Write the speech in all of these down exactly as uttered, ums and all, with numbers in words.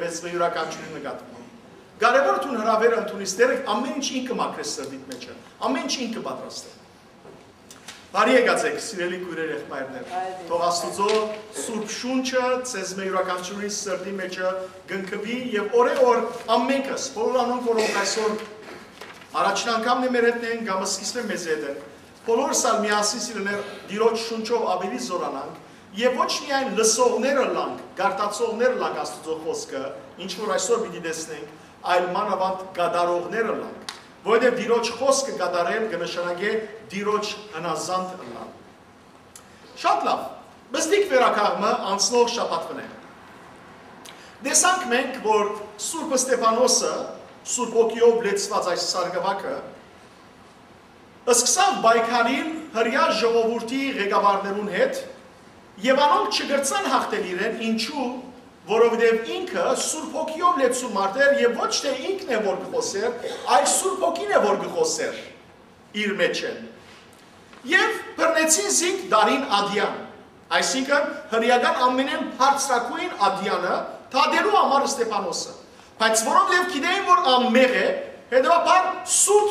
Ես մը յուրաքանչյուրի նկատմամբ։ Կարևոր դուն հրավերը ընդունիս, դերեկ ամեն ինչ ինքը մաքրես սրտիդ մեջը, ամեն ինչ ինքը պատրաստե։ Բարի եկած եք, սիրելի քույրեր, եղբայրներ։ Թող Աստուծոյ Սուրբ Շունչը ձեզ մը յուրաքանչյուրի սրտի մեջը կնքուի եւ օրէ օր ամենքս, բոլոր անոնք, որոնք այսօր առաջին անգամն է մեր հետ են կամ սկիզբը մեզ հետ են, բոլորս ալ միասին սիրելիներ Տիրոջ շունչով աւելի զորանանք եւ ոչ միայն լսողներ ըլլանք, գարտացողներ ըլլանք Աստուծոյ խօսքը, ինչ որ այսօր պիտի տեսնենք, այլ մանաւանդ կատարողներ ըլլանք, որովհետեւ Տիրոջ խօսքը կատարել կը նշանակէ Տիրոջ հնազանդ ըլլալ։ Շատ լաւ, բզդիկ վերակաղ մը անցնող շաբաթ մը։ Տեսանք մենք, որ Սուրբ Ստեփանոսը, Սուրբ Հոգիով լեցուած այս սարկուակը, սկսաւ պայքարիլ հրեայ ժողովուրդի ղեկավարներուն հետ եւ անոնք չկրցան յաղթել իրեն, ինչու, որովհետեւ ինքը Սուրբ Հոգիով լեցուն մարդ էր եւ ոչ թէ ինքն է որ կը խօսէր, այլ Սուրբ Հոգին է որ կը խօսէր իր մեջ են։ Եւ բռնեցին զինք դարին ադեան, այսինքն հրեական ամենէն բարձրագոյն ադեանը դատելու համար Ստեփանոսը, բայց որովհետեւ գիտեին որ անմեղ է, հետեւաբար սուտ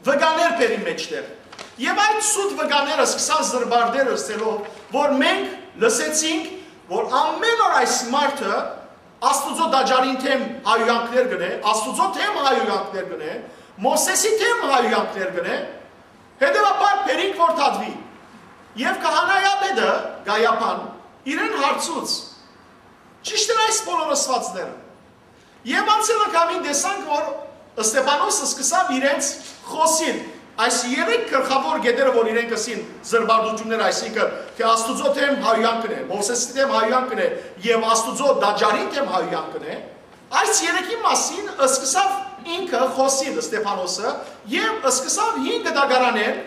վկաներ բերին մեջտեղ։ Եւ այդ սուտ վկաները սկսան զրպարտել ըսելով որ մենք լսեցինք որ ամեն օր այս մարդը Աստուծոյ տաճարին դէմ հայհոյանքներ կ'ընէ, Աստուծոյ դէմ հայհոյանքներ կ'ընէ, Մովսէսի դէմ հայհոյանքներ կ'ընէ, հետեւաբար բերինք որ դատուի։ Եւ քահանայապետը Կայապան իրեն հարցուց. «Ճիշդ են այս բոլոր ըսուածները»։ Եւ անցել անգամին տեսանք որ Ստեփանոսը սկսաւ իրենց խօսիլ այս երեք գլխաւոր կետերը որ իրենք ըսին զրպարտութիւններ, այսինքն թէ Աստուծոյ դէմ հայհոյանքն է, Մովսէսի դէմ հայհոյանքն է եւ Աստուծոյ տաճարին դէմ հայհոյանքն է, այս երեքի մասին սկսաւ ինքը խօսիլ Ստեփանոսը եւ սկսաւ հին գտակարանեն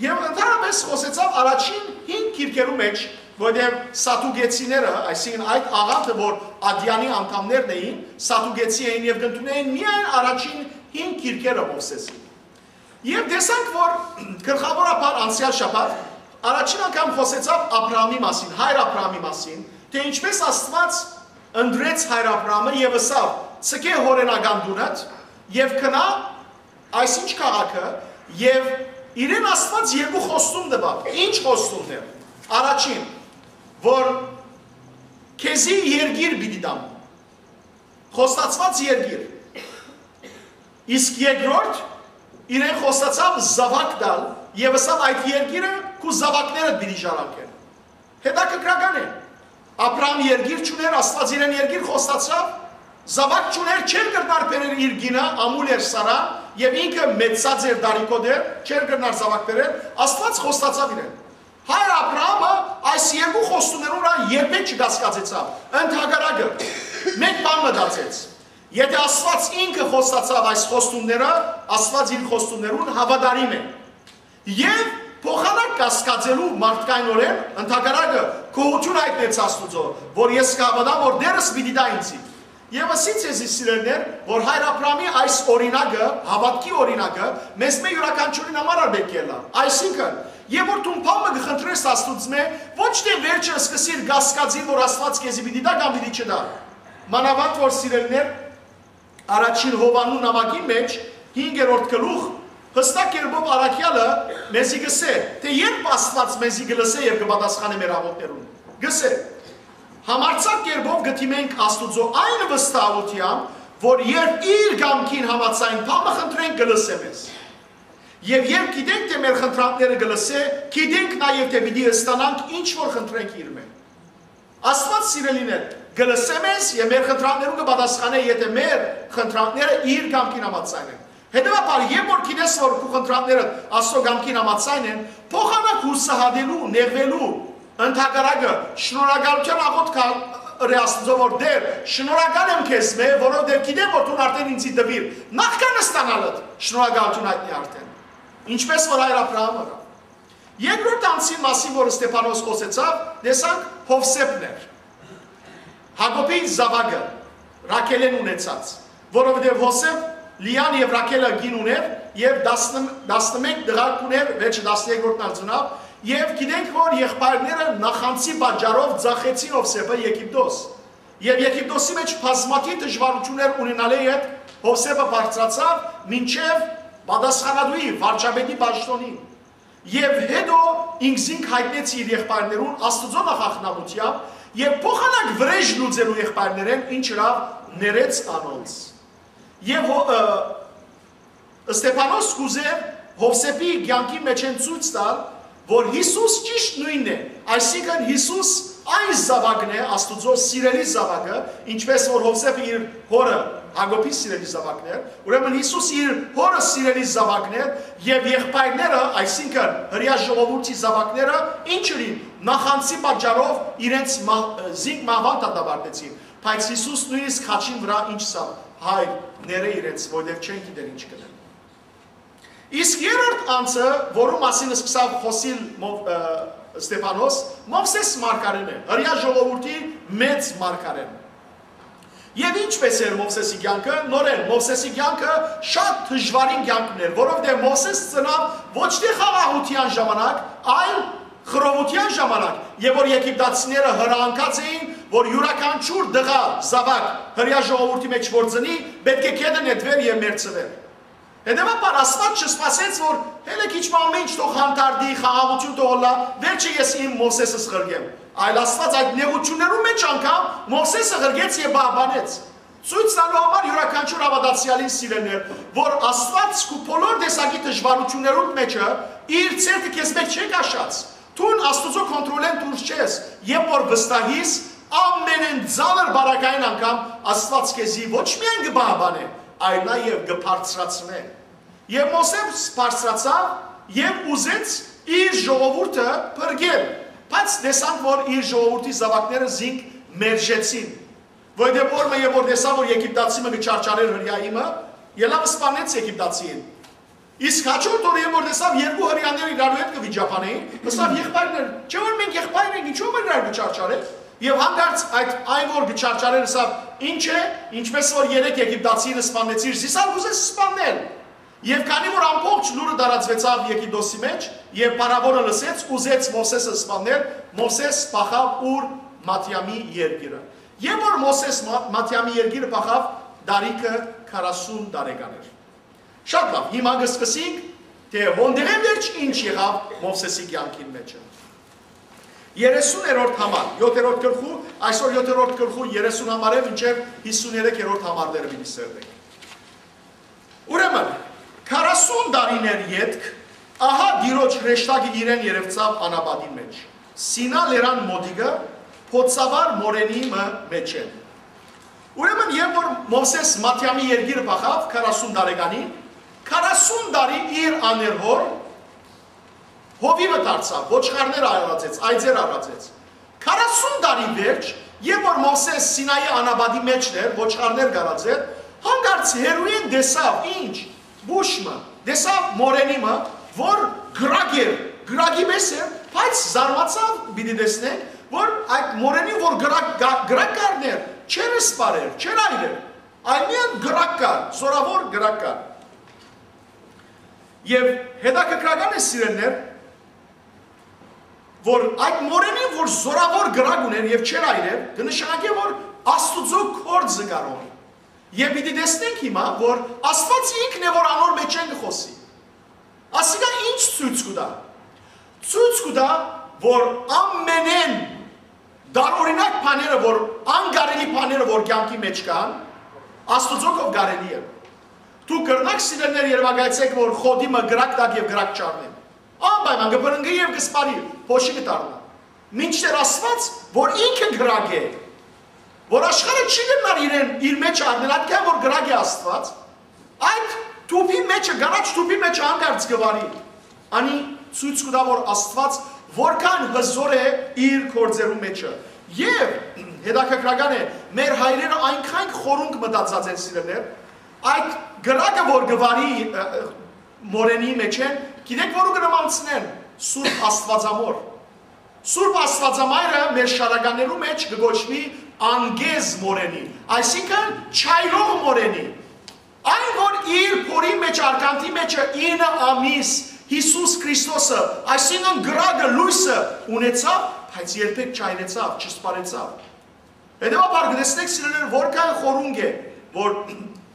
եւ ընդհանրապես խօսեցաւ առաջին հին գիրքերու մեջ, որտեղ սատուկեցիները, այսինքն այդ աղանդը որ ադեանի անդամներն էին, սատուկեցի էին եւ կ'ընդունեին միայն առաջին հին գիրքերը Մովսէսի։ Եւ տեսանք որ գլխավորաբար անցեալ շաբաթ առաջին անգամ խօսեցաւ Աբրահամի մասին, հայր Աբրահամի մասին, թէ ինչպես Աստուած ընտրեց հայր Աբրահամը եւ ըսաւ. «Ցկէ հօրենական տունդ եւ գնա այսինչ քաղաքը»։ Եւ իրեն Աստուած երկու խոստում տուաւ։ Ինչ խոստումներ։ Առաջին, որ քեզի երկիր պիտի տամ, խոստացուած երկիր։ Իսկ երկրորդ, իրեն խոստացաւ զաւակ տալ եւ ըսաւ. «Այդ երկիրը քու զաւակներդ պիտի ժառանգեն»։ Հետաքրքրական է։ Աբրահամ երկիր չունէր, Աստուած իրեն երկիր խոստացաւ, զաւակ չունէր, չէր կրնար բերել իր կինը, ամուլ էր Սարա, եւ ինքը մեծացած էր, դարիքոտ էր, չէր կրնար զաւակ բերել, Աստուած խոստացաւ իրեն։ Հայր Աբրահամը այս երկու խոստումներուն վրայ երբեք չկասկածեցաւ, ընդհակառակը, մէկ բան մտածեց. «Եթէ Աստուած ինքը խոստացաւ այս խոստումները, Աստուած իր խոստումներուն հաւատարիմ է»։ Եւ փոխանակ կասկածելու մարդկայնօրէն, ընդհակառակը, գոհութիւն հայտնեց Աստուծոյ, որ ես կհաւատամ, որ Տէրս պիտի տայ ինձի։ Եվ ըսի ձեզի, սիրելիներ, որ հայր Աբրահամի այս օրինակը, հաւատքի օրինակը, մեզ մէ յուրաքանչիւրին համար ալ պէտք է ըլլայ։ Այսինքն, երբ որ դուն բան մը կը խնդրես Աստուծմէ, ոչ թէ վերջը սկսիր կասկածիլ, որ Աստուած քեզի պիտի տայ կամ պիտի չտայ։ Մանաւանդ որ, սիրելիներ, առաջին Յովհաննու նամակին մեջ, հինգերորդ գլուխ, յստակ կերպով առաքեալը մեզի կ'ըսէ, թէ երբ Աստուած մեզի կը լսէ եւ կը պատասխանէ մեր աղօթքներուն, կ'ըսէ. «Համարձակ կերպով կը դիմենք Աստուծոյ այն վստահութեամբ, որ երբ իր կամքին համաձայն բան մը խնդրենք, կը լսէ մեզ։ Եւ երբ գիտենք, թէ մեր խնդրանքները կը լսէ, գիտենք նաեւ, թէ պիտի ստանանք ինչ որ խնդրենք իրմէ»։ Աստուած, սիրելիներ, կը լսէ մեզ եւ մեր խնդրանքներուն կը պատասխանէ, եթէ մեր խնդրանքները իր կամքին համաձայն են։ Հետեւաբար, երբ որ գիտես, որ քու խնդրանքները Աստուծոյ կամքին համաձայն են, փոխանակ յուսահատելու, նեղուելու, ընդհակառակը, շնորհակալութեան աղօթք ըրէ Աստուծոյ, որ Տէր, շնորհակալ եմ քեզմէ, որովհետեւ գիտեմ, որ դուն արդեն ինձի տուիր, նախքան ստանալդ, շնորհակալութիւն հայտնի արդեն։ Ինչպես որ հայր Աբրահամը ըրաւ։ Երկրորդ անձին մասին, որ Ստեփանոս խօսեցաւ, տեսանք, Յովսէփն էր, Յակոբի զաւակը, Ռաքէլէն ունեցած, որովհետեւ Յովսէփ Լիան եւ Ռաքէլը կին ունէր եւ տասնմեկ տղայք ունէր, վերջը տասներկրորդն ալ ծնաւ, եւ գիտենք, որ եղբայրները նախանձի պատճառով ձախեցին Յովսէփը Եգիպտոս։ Եւ Եգիպտոսի մէջ բազմաթիւ դժուարութիւններ ունենալէ յետ Յովսէփը բարձրացաւ մինչեւ պատասխանատուի, վարչապետի պաշտօնին։ Եւ հետո ինքզինք յայտնեց իր եղբայրներուն Աստուծոյ նախախնամութեամբ եւ փոխանակ վրէժ լուծելու եղբայրներէն ինչ ըրաւ, ներեց անոնց։ Եւ հո-, ը, Ստեփանոս կ'ուզէր Յովսէփի կեանքի մէջէն ցոյց տալ, որ Յիսուս ճիշդ նոյնն է, այսինքն Յիսուս այն զաւակն է, Աստուծոյ սիրելի զաւակը, ինչպէս որ Յովսէփը իր հօրը Յակոբի սիրելի զաւակն էր, ուրեմն Յիսուս իր հօրը սիրելի զաւակն էր եւ եղբայրները, այսինքն Հրեայ ժողովուրդի զաւակները, ինչ ըրին, նախանձի պատճառով իրենց մահ-, զինք մահուան դատապարտեցին, բայց Յիսուս նոյնիսկ խաչին վրայ ինչ սա, հայր, ներէ իրենց, որտեւ չեն գիտեր ինչ կ'ընեն։ Իսկ երրորդ անձը, որու մասին սկսաւ խօսիլ Մով-, ը, Ստեփանոս, Մովսէս մարգարէն է, Հրեայ ժողովուրդի մեծ մարգարէն։ Եւ ինչպէս էր Մովսէսի կեանքը, նորէն Մովսէսի կեանքը շատ դժուարին կեանք էր, որովհետեւ Մովսէս ծնաւ ոչ թէ խաղաղութեան ժամանակ, այլ խռովութեան ժամանակ, եւ որ եգիպտացիները հրահանգած էին, որ իւրաքանչիւր տղայ, զաւակ, Հրեայ ժողովուրդի մէջ որ ծնի, պէտք է գետը նետուէր եւ մեռցուէր։ Հետեւաբար Աստուած չսպասեց, որ հելը քիչ մը ամէն ինչ թող հանդարտի, խաղաղութիւն թող ըլլայ, վերջը ես իմ Մովսէսս ղրկեմ։ Այլ Աստուած այդ նեղութիւններուն մէջ անգամ Մովսէսը ղրկեց եւ պահպանեց։ Ցոյց տալու համար իւրաքանչիւր հաւատացեալին, սիրելիներ, որ Աստուած քու բոլոր տեսակի դժուարութիւններուն մէջը իր ձեռքը քեզ մէջ չէ քաշած։ Դուն Աստուծոյ կոնտրոլէն դուրս չես, երբ որ վստահիս, ամենէն ծանր բարակային անգամ Աստուած քեզի ոչ միայն կը պահպանէ, այլ նաեւ կը բարձրացնէ։ Եւ Մովսէս բարձրացաւ եւ ուզեց իր ժողովուրդը փրկել, բայց տեսանք, որ իր ժողովուրդի զաւակները զինք մերժեցին, որովհետեւ օր մը երբ որ տեսաւ, որ եգիպտացի մը կը չարչարէր հրեայի մը, ելաւ սպանեց եգիպտացիին։ Իսկ հաջորդ օրը երբ որ տեսաւ երկու հրեաները իրարու հետ կը վիճաբանեին, ըսաւ. «Եղբայրներ, չէ՞ որ մենք եղբայր ենք, ինչո՞վ մը իրար կը չարչարեք»։ Եւ հանկարծ այդ այն որ կը չարչարէր, ըսաւ. «Ինչ է, ինչպես որ երեկ եգիպտացիին սպանեցիր, զիս ալ կ'ուզես սպանել»։ Եւ քանի որ ամբողջ լուրը տարածուեցաւ Եգիպտոսի մէջ, եւ փարաւոնը լսեց, ուզեց Մովսէսը սպանել, Մովսէս փախաւ ուր, Մադիամի երկիրը։ Եւ որ Մովսէս Մա-, Մադիամի երկիրը փախաւ, տարիքը քառասուն տարեկան էր։ Շատ լաւ, հիմա կը սկսենք, թէ հոն դեղէն վերջ ինչ եղաւ Մովսէսի կեանքին մէջը։ Երեսուներորդ համար, յոթերորդ գլխու, այսօր յոթերորդ գլխու երեսուն համար է, մինչեւ հիսուներեքերորդ համարները պիտի սերնենք։ Ուրեմն, քառասուն տարիներ ետք, ահա Տիրոջ հրեշտակը իրեն երեւցաւ անապատի մէջ, Սինա լերան մօտիկը, փոցավար մորենի մը մէջէն։ Ուրեմն, երբ որ Մովսէս Մադիամի երկիրը փախաւ քառասուն տարեկանին, քառասուն տարի իր աներհոր հովիւը դարձաւ, ոչխարներ արածեց, այծեր արածեց։ Քառասուն տարի վերջ, երբ որ Մովսէս Սինայի անապատի մէջ էր, ոչխարներ կ'արածէր, հանկարծ հեռուէն տեսաւ, ինչ, բուշ մը, տեսաւ մորենի մը, որ կրակ էր, կրակի պես էր, բայց զարմացաւ, պիտի տեսնենք, որ այդ մորենին, որ կրակ կա-, կրակ կ'առնէր, չէր սպարեր, չէր այրեր, այլ միայն կրակ կար, զորաւոր կրակ կար։ Եւ հետաքրքրական է, սիրելիներ, որ այդ մորենին, որ զորաւոր կրակ ունէր եւ չէր այրեր, կը նշանակէ, որ Աստուծոյ գործը կ'արի։ Եւ պիտի տեսնենք հիմա, որ Աստուած ինքն է, որ անոր մէջէն կը խօսի։ Ասիկա ինչ ցոյց կու տայ։ Ցոյց կու տայ, որ ամենէն տարօրինակ բաները, որ անկարելի բաները, որ կեանքի մէջ կան, Աստուծոյ կով կարելի է։ Դուք կրնաք, սիրելիներ, երեւակայեցէք, որ խոտի մը կրակ տաք եւ կրակ չառնէ։ Անպայման կը բռնկի եւ կը սպարի, փոշի կը դառնայ։ Մինչդեռ Աստուած, որ ինքը կրակ է, որ աշխարհը չի կրնար իրեն, իր մէջ առնել, ատկան որ կրակ է Աստուած, այդ թուփի մէջը, կանաչ թուփի մէջը հանկարծ կը վարի։ Անի ցոյց կու տայ, որ Աստուած որքան հզոր է իր գործերու մէջը։ Եւ հետաքրքրական է, մեր հայրերը այնքան խորունկ մտածած են, սիրելիներ, այդ կրակը, որ կը վարի, ը, ը, մորենի մէջէն, գիտեք, որու կը նմանցնեն, Սուրբ Աստուածամոր։ Սուրբ Աստուածամայրը մեր շարականներու մէջ կը կոչուի անգեզ մորենի, այսինքն՝ չայրող մորենի։ Այն, որ իր փորի մէջ, արկանդի մէջը ինը ամիս Յիսուս Քրիստոսը, այսինքն՝ կրակը, լոյսը ունեցաւ, բայց երբեք չայրեցաւ, չսպարեցաւ։ Հետեւաբար կը տեսնենք, սիրելիներ, որքան խորունկ է, որ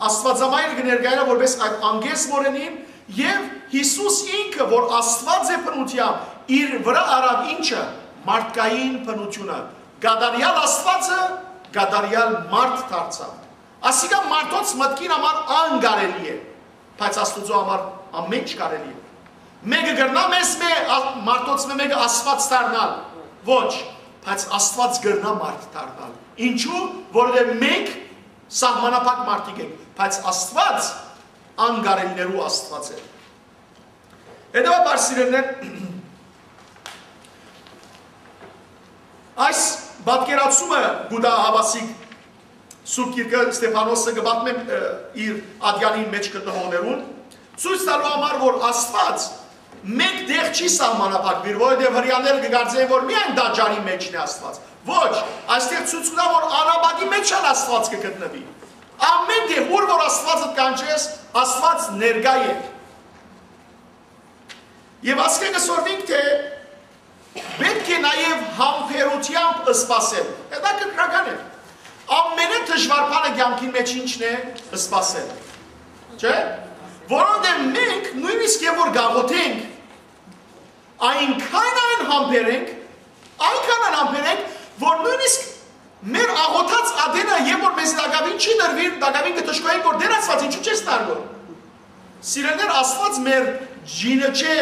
Աստուածամայրը կը ներկայանայ որպէս այդ անգեզ մօրենին, եւ Յիսուս ինքը, որ Աստուած է բնութեամբ, իր վրայ առաւ ինչը, մարդկային բնութիւնը, կատարեալ Աստուածը կատարեալ մարդ դարձաւ։ Ասիկա մարդոց մտքին համար անկարելի է, բայց Աստուծոյ համար ամէն ինչ կարելի է։ Մէկը կրնա մեզմէ, ա-, մարդոցմէ մէկը Աստուած դառնալ։ Ոչ, բայց Աստուած կրնայ մարդ դառնալ։ Ինչու՞, որովհետեւ մենք սահմանափակ մարդիկ ենք, բայց Աստուած անկարելիներու Աստուած է։ Հետեւաբար, սիրելիներ, այս պատկերացումը կու տայ Հաւասիկ Սուրբ Գիրքը, Ստեփանոսը կը պատմէ, ը, իր ատեանին մէջ գտնողներուն, ցոյց տալու համար, որ Աստուած մէկ տեղ չի սահմանափակուիր, որովհետեւ Հրեաները կը կարծեն, որ միայն տաճարի մէջն է Աստուած։ Ոչ, այստեղ ցոյց կու տայ, որ անապատի մէջ ալ Աստուած կը գտնուի։ Ամէն տեղ, ուր որ Աստուածը կանչես, Աստուած ներկայ է։ Եւ ասկէ կը սորվինք, թէ պէտք է նաեւ համբերութեամբ սպասել։ Հետաքրքրական է։ Ամենը դժուար բանը կեանքին մէջ ի՞նչն է, սպասել։ Չէ՞։ Որովհետեւ մենք նոյնիսկ եւ որ գաղութենք, այնքան այն համբեր ենք, այնքան այն համբեր ենք, որ նոյնիսկ մեր աղոթած ատենը, երբ որ մեզի տակաւին չի տրուիր, տակաւին կը դժգոհենք, որ Տէր Աստուած, ինչու՞ չես տալու։ Սիրելիներ, Աստուած մեր ջինը չէ,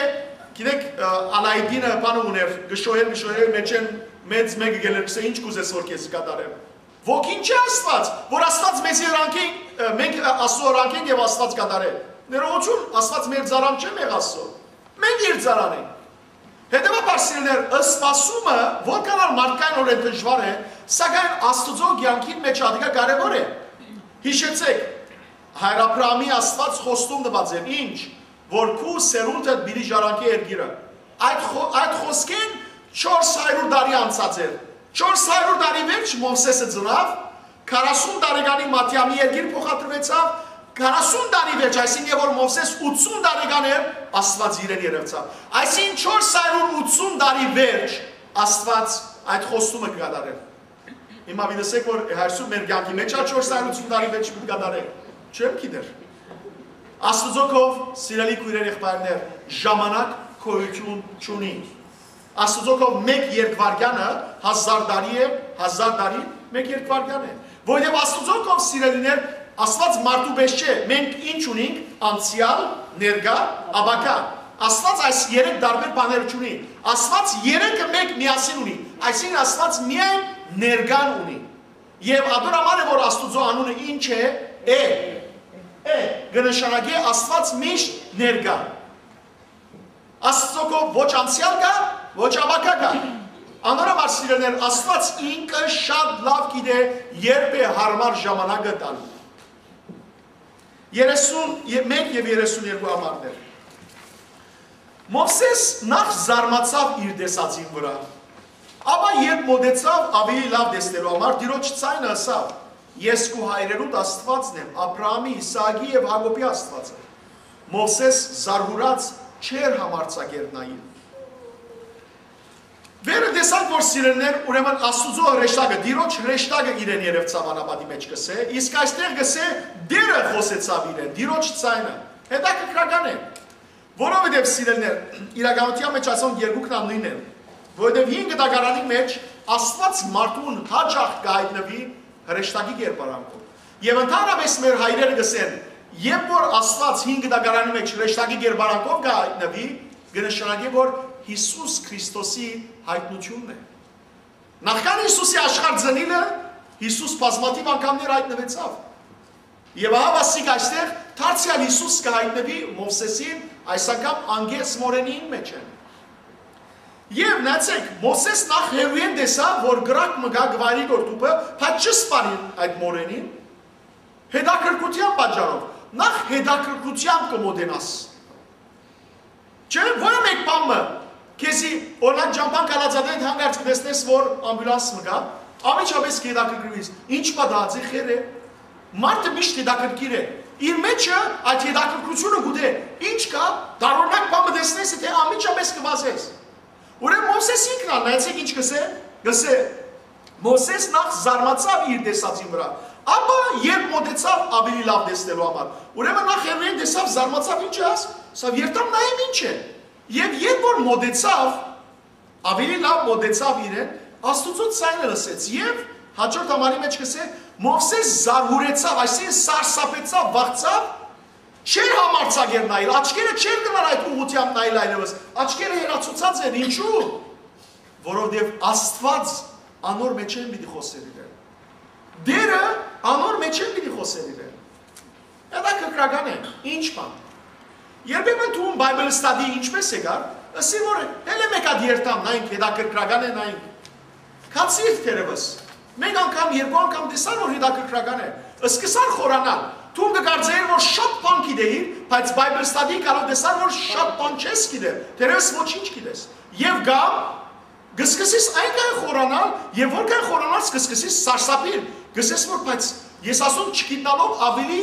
գիտեք, ը, Ալայդինը բանը ուներ, կը շոյեր, կը շոյեր, մեջէն մեծ մէկը գելեր, կսե, «Ինչ կուզես որ քեզի կատարեմ»։ Ոքինչ չէ Աստուած, որ Աստուած մեզի հրանքենք, ը, մենք, ը, Աստուծոյ հրանքենք եւ Աստուած կատարէ։ Ներողություն, Աստուած մեր ծառան չէ, մեղ Աստծո։ Մենք իր ծառան ենք։ Հետեւաբար, սիրելիներ, սպասումը որքան ալ մարդկայնօրէն դժուար է, սակայն Աստուծոյ կեանքին մէջ ատիկա կարեւոր է։ Յիշեցէք, Հայր Աբրահամի Աստուած խոստում տուած էր, ինչ, որ քու սերունդդ պիտի ժառանգէ երկիրը։ Այդ խո-, այդ խոսքէն չորս հարիւր տարի անցած էր։ Չորս հարիւր տարի վերջ Մովսէսը ծնաւ, քառասուն տարեկանի Մատեամի երկիր փոխադրուեցաւ, քառասուն տարի վերջ, այսինքն, երբ որ Մովսէս ութսուն տարեկան էր, Աստուած իրեն երեւցաւ։ Այսինքն, չորս հարիւր ութսուն տարի վերջ Աստուած այդ խոստումը կը կատարէր։ Հիմա մի տեսեք, որ այսօր մեր կեանքի մէջ ալ չորս հարիւր ութսուն տարի վերջ պիտի կատարէ։ Չեմ գիտեր։ Աստուծոյ կով, սիրելի քոյրեր, եղբայրներ, ժամանակ գոյութիւն չունի։ Աստուծոյ կով մէկ երկվարկեանը հազար տարի է, հազար տարի մէկ երկվարկեան է։ Որովհետեւ Աստուծոյ կով, սիրելիներ, Աստուած մարդու պես չէ, մենք ինչ ունինք, անցեալ, ներկայ, ապագայ։ Աստուած այս երեք տարբեր բաները չունի։ Աստուած երեքը մէկ միասին ունի, այսինքն Աստուած միայն ներկան ունի։ Եւ ատոր համար է, որ Աստուծոյ անունը ինչ է, է, է, կը նշանակէ Աստուած միշտ ներկայ։ Աստուծոյ կով ոչ անցեալ կայ, ոչ ապագայ կայ։ Անոր համար, սիրելիներ, Աստուած ինքը շատ լաւ գիտէ երբ է յարմար ժամանակը տալու։ Երեսուն մէկ եւ երեսուն երկու համարներ։ Մովսէս նախ զարմացաւ իր տեսածին վրայ, ապա երբ մօտեցաւ ավելի լաւ տեսնելու համար, Տիրոջ ձայնը ըսաւ. «Ես քու հայրերուդ Աստուածն եմ, Աբրահամի, Իսահակի եւ Յակոբի Աստուածը»։ Մովսէս զարհուրած չէր համարձակեր նայիլ։ Վերը տեսանք, որ, սիրելիներ, ուրեմն Աստուծոյ հրեշտակը, Տիրոջ հրեշտակը իրեն երեւցաւ անապատի մէջ, կսե, իսկ այստեղ կսե Տէրը խօսեցաւ իրեն, Տիրոջ ձայնը։ Հետաքրքրական է, որովհետեւ, սիրելիներ, իրականութեան մէջ ասոնք երկուքն ալ նոյնն են, որովհետեւ հին կտակարանի մէջ Աստուած մարդուն յաճախ կը հայտնուի հրեշտակի կերպարանքով։ Եւ ընդհանրապես մեր հայրերը կսեն, երբ որ Աստուած հին կտակարանի մէջ հրեշտակի կերպարանքով կը հայտնուի, կը նշանակի, որ Յիսուս Քրիստոսի հայտնութիւնն է։ Նախքան Յիսուսի աշխարհ ծնիլը, Յիսուս բազմաթիւ անգամներ հայտնուեցաւ։ Եւ ահա ասիկ այստեղ դարձեալ Յիսուս կը հայտնուի Մովսէսին, այս անգամ անգեզ մօրենին մէջ են։ Եւ նայեցեք, Մովսէս նախ հեռուէն տեսաւ, որ կրակ մը կայ, կը վայրի գոր թուփը, բայց չսպանին այդ մօրենին։ Հետաքրքրութեան պատճառով, նախ հետաքրքրութեամբ կը մոտենաս։ Չէ՞, ո՞ր մէկ բան մը, քեզի, օրինակ, ճամբան գալած ատեն հանկարծ կտեսնես, որ ամբուլանս մը կայ, անմիջապէս կհետաքրքրուիս, ինչ պատահած է, խեր է։ Մարդը միշտ հետաքրքիր է։ Իր մեջը այդ հետաքրքրությունը գուտե, ինչ կայ, տարօրինակ բան մը տեսնես, թէ անմիջապէս կվազես։ Ուրեմն Մովսէս ինքն ալ, նայեցեք ինչ կսե, կսե, Մովսէս նախ զարմացաւ իր տեսածին վրայ, ապա երբ մօտեցաւ ավելի լաւ տեսնելու համար, ուրեմն նախ հեռուէն տեսաւ, զարմացաւ, ինչ է աս, սա երթամ նայեմ ինչ է։ Եւ երբ որ մօտեցաւ, ավելի լաւ մօտեցաւ իրեն, Աստուծոյ ձայնը լսեց եւ հաջորդ համարի մէջ կսէ, Մովսէս զարհուրեցաւ, այսինքն սարսափեցաւ, վախցաւ, չէր համարձակեր նայել, աչքերը չէր գնար այդ ուղղութեամբ նայել այլեւս, աչքերը հեռացուցած էր, ինչու՞, որովհետեւ Աստուած անոր մէջէն պիտի խօսէր իրեն։ Տէրը անոր մէջէն պիտի խօսէր իրեն։ Հետաքրքրական է, ինչ բան։ Երբեմն դու Bible study ինչպես եկար, ըսի որ հելէ մէկ հատ երթամ, նայենք, հետաքրքրական է, նայենք։ Քացիր թերևս, մէկ անգամ, երկու անգամ տեսար որ հետաքրքրական է, սկսար խորանալ, դու կկարծեիր որ շատ բան գիտեիր, բայց Bible study գալով տեսար որ շատ բան չես գիտեր, թերևս ոչինչ գիտես։ Եւ կամ կսկսես այնքան խորանալ, եւ որքան խորանաս կսկսես սարսափիլ, կսես որ բայց ես ասում չգիտնալով ավելի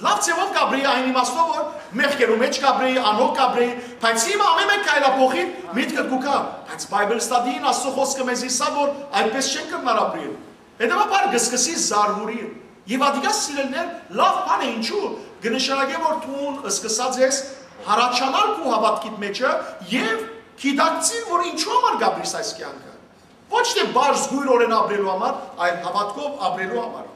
լաւ ձեւով կապրեի այն իմաստով որ մեղքերու մէջ կապրեի, անհոգ կապրեի, բայց հիմա ամեն մէկ քայլափոխին միտքդ կու գայ, բայց Bible study-ին Աստուծոյ խօսքը մեզի սա որ այդպես չեն կրնար ապրիլ։ Հետեւաբար կսկսի զարհուրիլ։ Եւ ատիկա սիրելիներ լաւ բան է, ինչու կը նշանակէ որ դուն սկսած ես հառաչանալ քու հաւատքիդ մէջը եւ գիտակցիլ որ ինչու համար կապրիս այս կեանքը։ Ոչ թէ բարձ գոյր օրէն ապրելու համար, այլ հաւատքով ապրելու համար։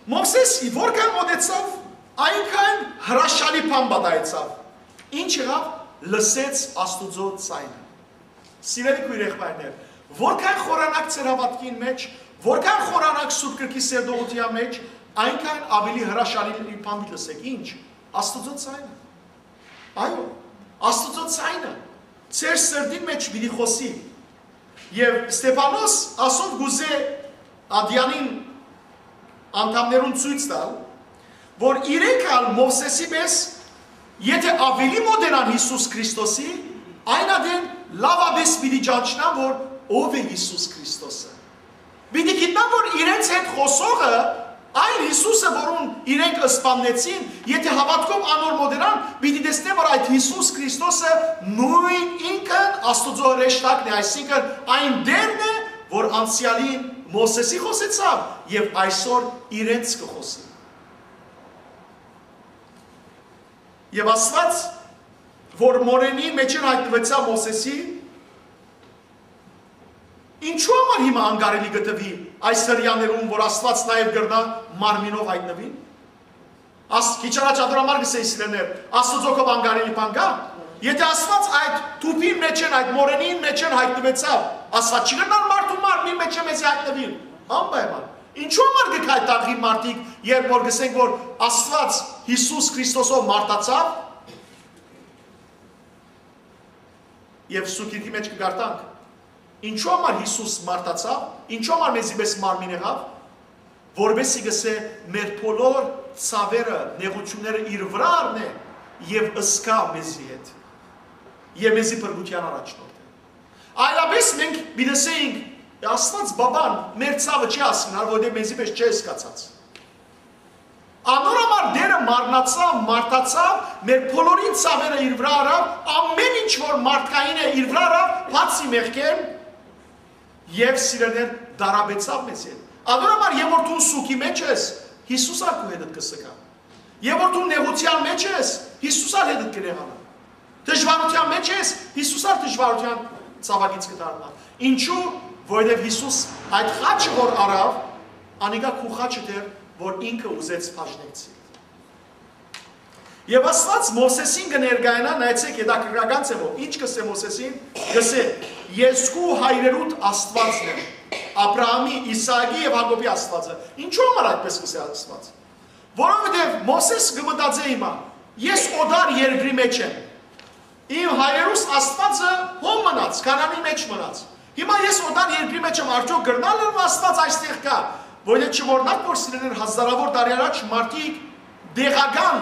Մովսէս որքան մօտեցաւ, այնքան հրաշալի բան պատահեցաւ։ Ինչ եղաւ, լսեց Աստուծոյ ձայնը։ Սիրելի քոյր եղբայրներ, որքան խորանաք ձեր հաւատքին մէջ, որքան խորանաք Սուրբ Գրքի սերտողութեան մէջ, այնքան ավելի հրաշալի բան պիտի լսեք։ Ինչ, Աստուծոյ ձայնը։ Այո, Աստուծոյ ձայնը ձեր սրտին մէջ պիտի խօսի։ Եւ Ստեփանոս ասով կուզէ ատեանին անդամներուն ցոյց տալ, որ իրենք ալ Մովսէսի պէս, եթէ ավելի մօտենան Յիսուս Քրիստոսի, այն ատեն լաւապէս պիտի ճանչնան որ ով է Յիսուս Քրիստոսը։ Պիտի գիտնան որ իրենց հետ խօսողը, այն Յիսուսը որուն իրենք սպաննեցին, եթէ հաւատքով անոր մօտենան, պիտի տեսնեն որ այդ Յիսուս Քրիստոսը նոյն ինքն Աստուծոյ հրեշտակն է, այսինքն այն Տէրն է որ անցեալին Մովսէսի խօսեցաւ եւ այսօր իրենց կը խօսի։ Եւ Աստուած որ մօրենի մէջէն յայտնուեցաւ Մովսէսի, ինչու համար հիմա անկարելի կը թուի այս Հրեաներուն որ Աստուած նաեւ կրնայ մարմինով յայտնուի։ Աս քիչ առաջ ատոր համար կսէի սիրելիներ, Աստուծոյ անկարելի բան կա։ Եթէ Աստուած այդ թուփին մէջէն, այդ մօրենին մէջէն յայտնուեցաւ, Աստուած չի կրնար մարդու մարմնին մէջէ մեզի յայտնուիլ։ Անպայման։ Ինչու համար կը գայ տաղի մարդիկ երբ որ կսենք որ Աստուած Յիսուս Քրիստոսով մարդացաւ։ Եւ Սուրբ Գիրքի մէջ կը կարդանք, ինչու համար Յիսուս մարդացաւ, ինչու համար մեզի պէս մարմին եղաւ, որպեսզի գսէ մեր բոլոր ցաւերը, նեղութիւնները իր վրայ առնէ եւ ըսկայ մեզի հետ եւ մեզի փրկութեան առաջնորդէ։ Այլապէս մենք պիտի ասենք, Աստուած բաբան մեր ցաւը չի հասկնար, որտեղ մեզի պէս չէ ըսկացած։ Անոր համար Տէրը մարմնացաւ, մարդացաւ, մեր բոլորին ցաւերը իր վրայ առաւ, ամեն ինչ որ մարդկային է իր վրայ առաւ, բացի մեղքէն, եւ սիրելիներ դարաբեցաւ մեզ հետ։ Անոր համար եւ որ դու սուքի մեջ ես, Յիսուս ալ քու հետդ կը սկայ։ Եւ որ դու նեղութեան մեջ ես, Յիսուս ալ հետդ կը նեղանայ։ Դժուարութեան մեջ ես, Յիսուս ալ դժուարութեան ցաւագից կը դառնայ։ Ինչու, որովհետեւ Յիսուս այդ խաչը որ առաւ, անիկա քու խաչը դեր որ ինքը ուզեց բաժնեկցի։ Եվ Աստուած Մովսեսին կը ներկայանայ, նայեցեք հետաքրքրական ձևով, ինչ կսէ Մովսեսին, կսէ. «Ես քու հայրերուդ Աստուածն եմ, Աբրահամի, Իսահակի եւ Յակոբի Աստուածը»։ Ինչու համար այդպես կսէ Աստուած։ Որովհետեւ Մովսես կը մտածէ հիմա. «Ես օտար երկրի մեջ եմ, իմ հայրերուս Աստուածը հոն մնաց, Քանանի մեջ մնաց, հիմա ես օտար երկրի մեջ եմ, արդյոք կրնալ եմ Աստուած այստեղ կա»։ Որովհետեւ չմոռնաք որ սիրելիներ հազարավոր տարի առաջ մարդիկ տեղական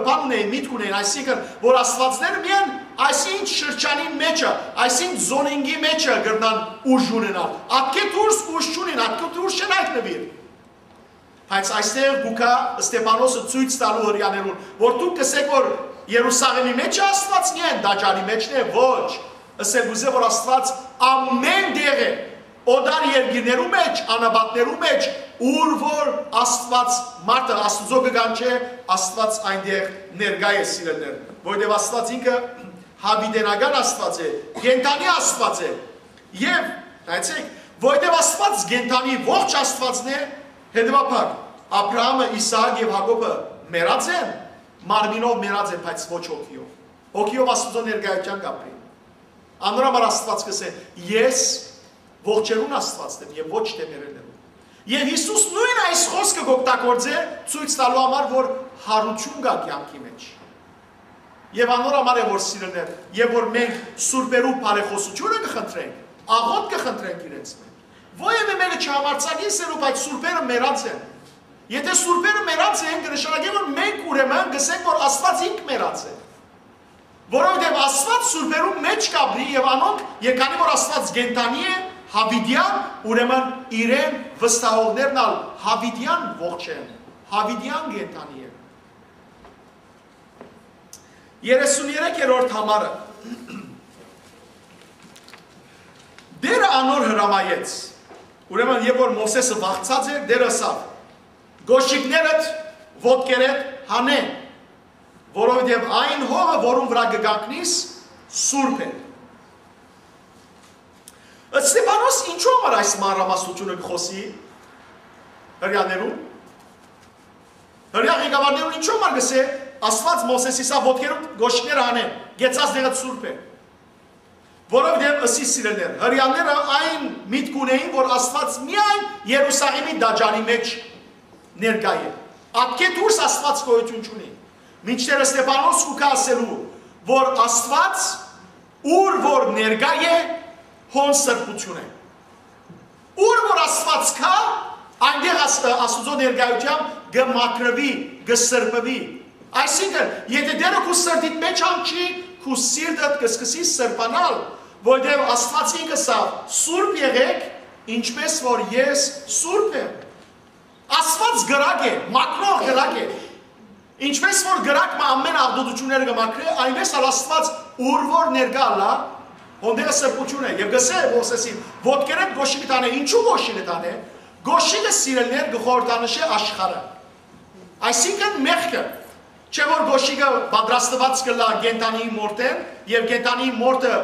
բան ունեին, միտք ունեին, այսինքն որ Աստուածները միայն այսինչ շրջանին մեջը, այսինչ զոնինգի մեջը կրնան ուժ ունենալ, ատկէ դուրս ուժ չունին, ատկէ դուրս չեն հայտնուիր։ Բայց այստեղ կու գայ Ստեփանոսը ցոյց տալու Հրեաներուն, որ դուք կսեք որ Երուսաղեմի մեջ է Աստուած միայն, տաճարի մեջն է, ոչ, ըսել կուզէ որ Աստուած ամեն տեղ է, օտար երկիրներու մէջ, անապատներու մէջ, ուր որ Աստուած մարդը, Աստուծոյ կը կանչէ, Աստուած այնտեղ ներկայ է, սիրելիներ, որովհետեւ Աստուած ինքը յաւիտենական Աստուած է, կենդանի Աստուած է։ Եւ, նայեցեք, որովհետեւ Աստուած կենդանի, ողջ Աստուածն է, հետեւաբար, Աբրահամը, Իսահակ եւ Յակոբը մեռած են, մարմինով մեռած են, բայց ոչ հոգիով։ Հոգիով Աստուծոյ ներկայութեան կապրին։ Անոր համար Աստուած կ'ըսէ. «Ես ողջերուն Աստուածն եմ եւ ոչ թէ մեռելներուն»։ Եւ Յիսուս նոյն այս խօսքը կ'օգտագործէ, ցոյց տալու համար, որ յարութիւն կայ կեանքի մէջ։ Եւ անոր համար է, որ, սիրելիներ, եւ որ մենք սուրբերու բարեխօսութիւնը կը խնդրենք, աղօթք կը խնդրենք իրենց մէջ։ Որեւէ մէկը չհամարձակի սերու, բայց սուրբերը մեռած են։ Եթէ սուրբերը մեռած են, կը նշանակէ, որ մենք ուրեմն կ'ըսենք, որ Աստուած ինք մեռած է։ Որովհետեւ Աստուած սուրբերու մէջ կ'ապրի եւ անոնք, երկանի որ Աստուած կենդանի է, յաւիտեան, ուրեմն իրեն վստահողներն ալ յաւիտեան ողջ են, յաւիտեան կենդանի են։ Երեսուներեք երրորդ համարը։ Տէրը անոր հրամայեց։ Ուրեմն, երբ որ Մովսէսը վախցած էր, Տէրը ըսաւ. «Կոշիկներդ ոտքերդ հանէ, որովհետեւ այն հողը, որուն վրայ կը կանգնիս, սուրբ է»։ Ստեփանոս ինչու համար այս մանրամասնութիւնը կը խօսի հրեաներուն։ Հրեա ղեկավարներուն ինչու համար կ'ըսէ. «Աստուած Մովսէսին ըսաւ. ոտքերուդ կոշիկները հանէ, կեցած տեղը սուրբ է»։ Որովհետեւ, ըսի, սիրելիներ, հրեաները այն միտք ունէին, որ Աստուած միայն Երուսաղէմի տաճարի մէջ ներկայ է, ատկէ դուրս Աստուած գոյութիւն չունի։ Մինչդեռ Ստեփանոս կու գայ ասելու, որ Աստուած, ուր որ ներկայ է, հոն սրբութիւն է։ Ուր որ Աստուած կայ, այնտեղ Աս-, Աստուծոյ ներկայութեամբ կը մաքրուի, կը սրբուի։ Այսինքն, եթէ Տէրը քու սրտիդ մէջ հանգչի, քու սիրտդ կը սկսի սրբանալ, որովհետեւ Աստուած ինքը ըսաւ. «Սուրբ եղէք, ինչպես որ ես սուրբ եմ»։ Աստուած կրակ է, մաքրող կրակ է։ Ինչպես որ կրակ մը ամէն աղտոտութիւնները կը մաքրէ, այնպես ալ Աստուած, ուր որ ներկայ ըլլայ, հոն տեղը սրբութիւն է։ Եւ կ'ըսէ Մովսէսին. «Ոտքերդ կոշիկդ հանէ»։ Ինչու՞ կոշիկդ հանէ։ Կոշիկը, սիրելիներ, կը խորհրդանշէ աշխարհը, այսինքն՝ մեղքը։ Չէ՞ որ կոշիկը պատրաստուած կ'ըլլայ կենդանի մորթէն, եւ կենդանի մորթը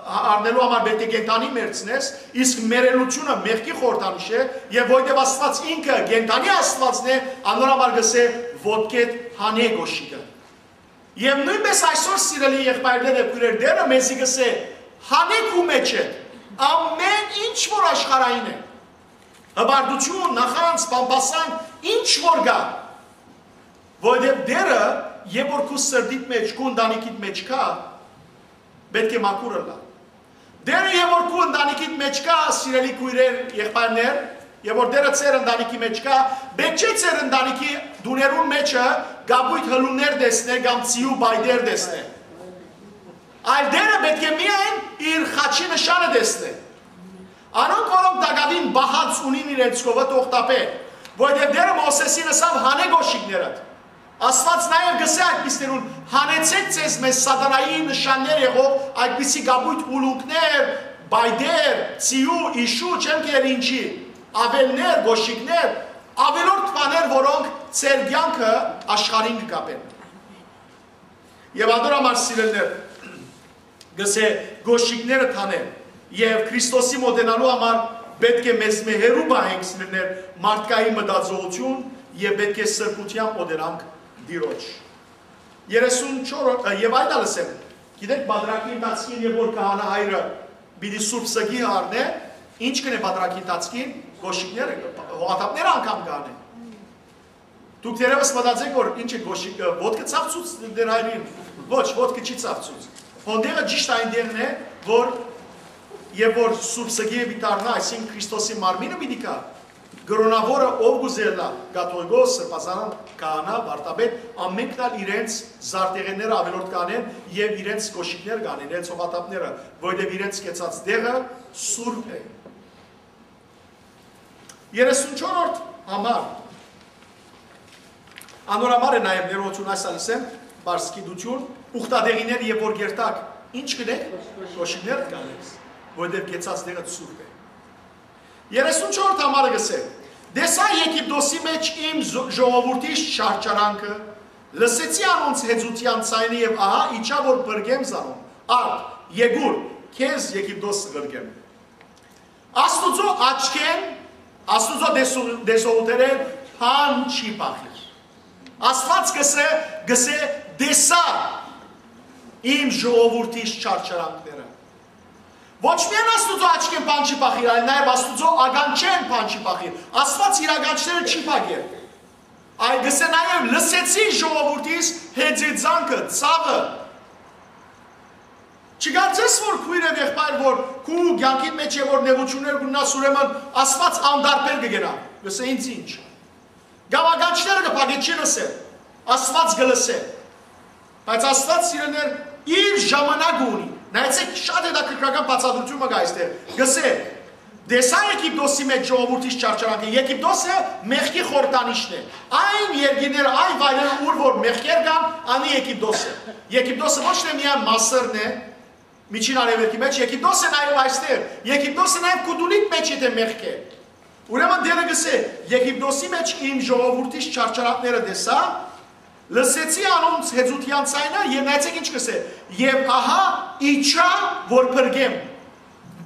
առնելու համար պէտք է կենդանի մեռցնես, իսկ մեռելութիւնը մեղքի խորհրդանիշ է, եւ որովհետեւ Աստուած ինքը կենդանի Աստուածն է, անոր համար կ'ըսէ. «Ոտքերդ հանէ կոշիկը»։ Եւ նոյնպէս այսօր, սիրելի եղբայրներ եւ քոյրեր, Տէրը մեզի կ'ըսէ. «Հանէ քու մէջդ ամէն ինչ որ աշխարհային է, հպարտութիւն, նախանձ, բամբասանք, ինչ որ կայ, որովհետեւ Տէրը, երբ որ քու սրտիդ մէջ, քու ընտանիքիդ մէջ կայ, պէտք է մաքուր ըլլայ։ Տէրը, երբ որ քու ընտանիքիդ մէջ կայ, սիրելի քոյրեր, եղբայրներ, երբ որ Տէրը ձեր ընտանիքի մէջ կայ, պէտք չէ ձեր ընտանիքի տուներուն մէջը կապոյտ հլուններ տեսնէ կամ ձիու պայտեր տեսնէ, այլ Տէրը պէտք է միայն իր խաչի նշանը տեսնէ։ Անոնք, որոնք տակաւին պահանջ ունին իրենց քովը, թող տապէ, որովհետեւ Տէրը Մովսէսին ըսաւ. «Հանէ կոշիկներդ»։ Աստուած նաեւ կ'ըսէ այդպիսներուն. «Հանեցէք ձեզմէ սատանայի նշաններ եղող այդպիսի կապոյտ ուլունքներ, պայտեր, ձիու, իշու, չեմ գիտեր ինչի, աւելներ, կոշիկներ, աւելորդ բաներ, որոնք ձեր կեանքը աշխարհին կը կապեն»։ Եւ անոր համար, սիրելիներ, կ'ըսէ. «Կոշիկներդ հանէ»։ Եւ Քրիստոսի մօտենալու համար պէտք է մեզմէ հեռու պահենք, սիրելիներ, մարդկային մտածողութիւն, եւ պէտք է սրբութեամբ մօտենանք Տիրոջ։ Երեսուն չորրորդ, ը, եւ այդ ալ ըսեմ, գիտեք, պատրակի ընթացքին, երբ որ քահանա հայրը պիտի սուրբ սգի առնէ, ինչ կ'ընէ պատրակի ընթացքին, կոշիկները, հողաթափները անգամ կ'անէ։ Դուք թերեւս մտածեք, որ ինչ է կոշիկը, ոտքը ցաւցուց դեր հայրին։ Ոչ, ոտքը չի ցաւցուց։ Հոն տեղը ճիշտ այնտեղն է, որ երբ որ սուրբ սգի է պիտի դառնայ, այսինքն՝ Քրիստոսի մարմինը պիտի գայ, կրօնաւորը ով կ'ուզէ ըլլայ, կաթողիկոս, սրբազան, քահանա, վարդապետ, ամենքն ալ իրենց զարտեղենները աւելորդ կ'անեն եւ իրենց կոշիկներ կ'անեն, իրենց հողաթափները, որովհետեւ իրենց կեցած տեղը սուրբ է։ Երեսուն չորրորդ համար։ Անոր համար է նաեւ ներողություն, այս ալ ըսեմ, պարզ գիտութիւն, ուխտատեղիներ, երբ որ կերթաք, ինչ կ'ընէք, կոշիկներ կ'անեք, որովհետեւ կեցած տեղը սուրբ է։ Երեսունչորդ համարը կ'ըսէ. «Տեսայ Եգիպտոսի մէջ իմ զո-, ժողովուրդիս չարչարանքը, լսեցի անոնց հեծութեան ձայնը եւ ահա իջայ որ փրկեմ զանոնք, արդ, եկուր, քեզ Եգիպտոս կ'ղրկեմ»։ Աստուծոյ աչքէն, Աստուծոյ տեսու-, տեսողութենէն բան չի փախիր։ Աստուած կ'ըսէ, կ'ըսէ. «Տեսայ իմ ժողովուրդիս չարչարանքները»։ Ոչ միայն Աստուծոյ աչքէն բան չի փախիր, այլ նաեւ Աստուծոյ ականջէն բան չի փախիր։ Աստուած իր ականջները չի փակեր։ Այլ կ'ըսէ նաեւ. «Լսեցի ժողովուրդիս հեծեծանքը, ցաւը»։ Չկարծես որ քոյր եւ եղբայր որ քու կեանքիդ մէջ է որ նեղութիւններ կ'ունենաս, ուրեմն Աստուած անդարբեր կը գնայ, կ'ըսէ. «Ինձ ինչ»։ Կամ ականջները կը փակէ, չի լսեր, Աստուած կը լսէ։ Բայց Աստուած, սիրելիներ, իր ժամանակը ունի։ Նայեցէք, շատ հետաքրքրական բացատրութիւն մը կայ այստեղ։ Կ'ըսէ. «Տեսայ Եգիպտոսի մէջ ժողովուրդիս չարչարանքը»։ Եգիպտոսը մեղքի խորհրդանիշն է։ Այն երկիրները, այն վայրերը, ուր որ մեղքեր կան, անի Եգիպտոսը։ Եգիպտոսը ոչ թե միայն Մասրն է, Միջին Արեւելքի մէջ, Եգիպտոսը նաեւ այստեղ։ Եգիպտոսը նաեւ քու տունիդ մէջ եթե մեղք է։ Ուրեմն Տէրը կ'ըսէ. «Եգիպտոսի մէջ իմ ժողովուրդիս չարչարանքները տեսայ, լսեցի անոնց հեծութեան ձայնը եւ նայեցէք ինչ կ'ըսէ. Եւ ահա իջայ որ փրկեմ»։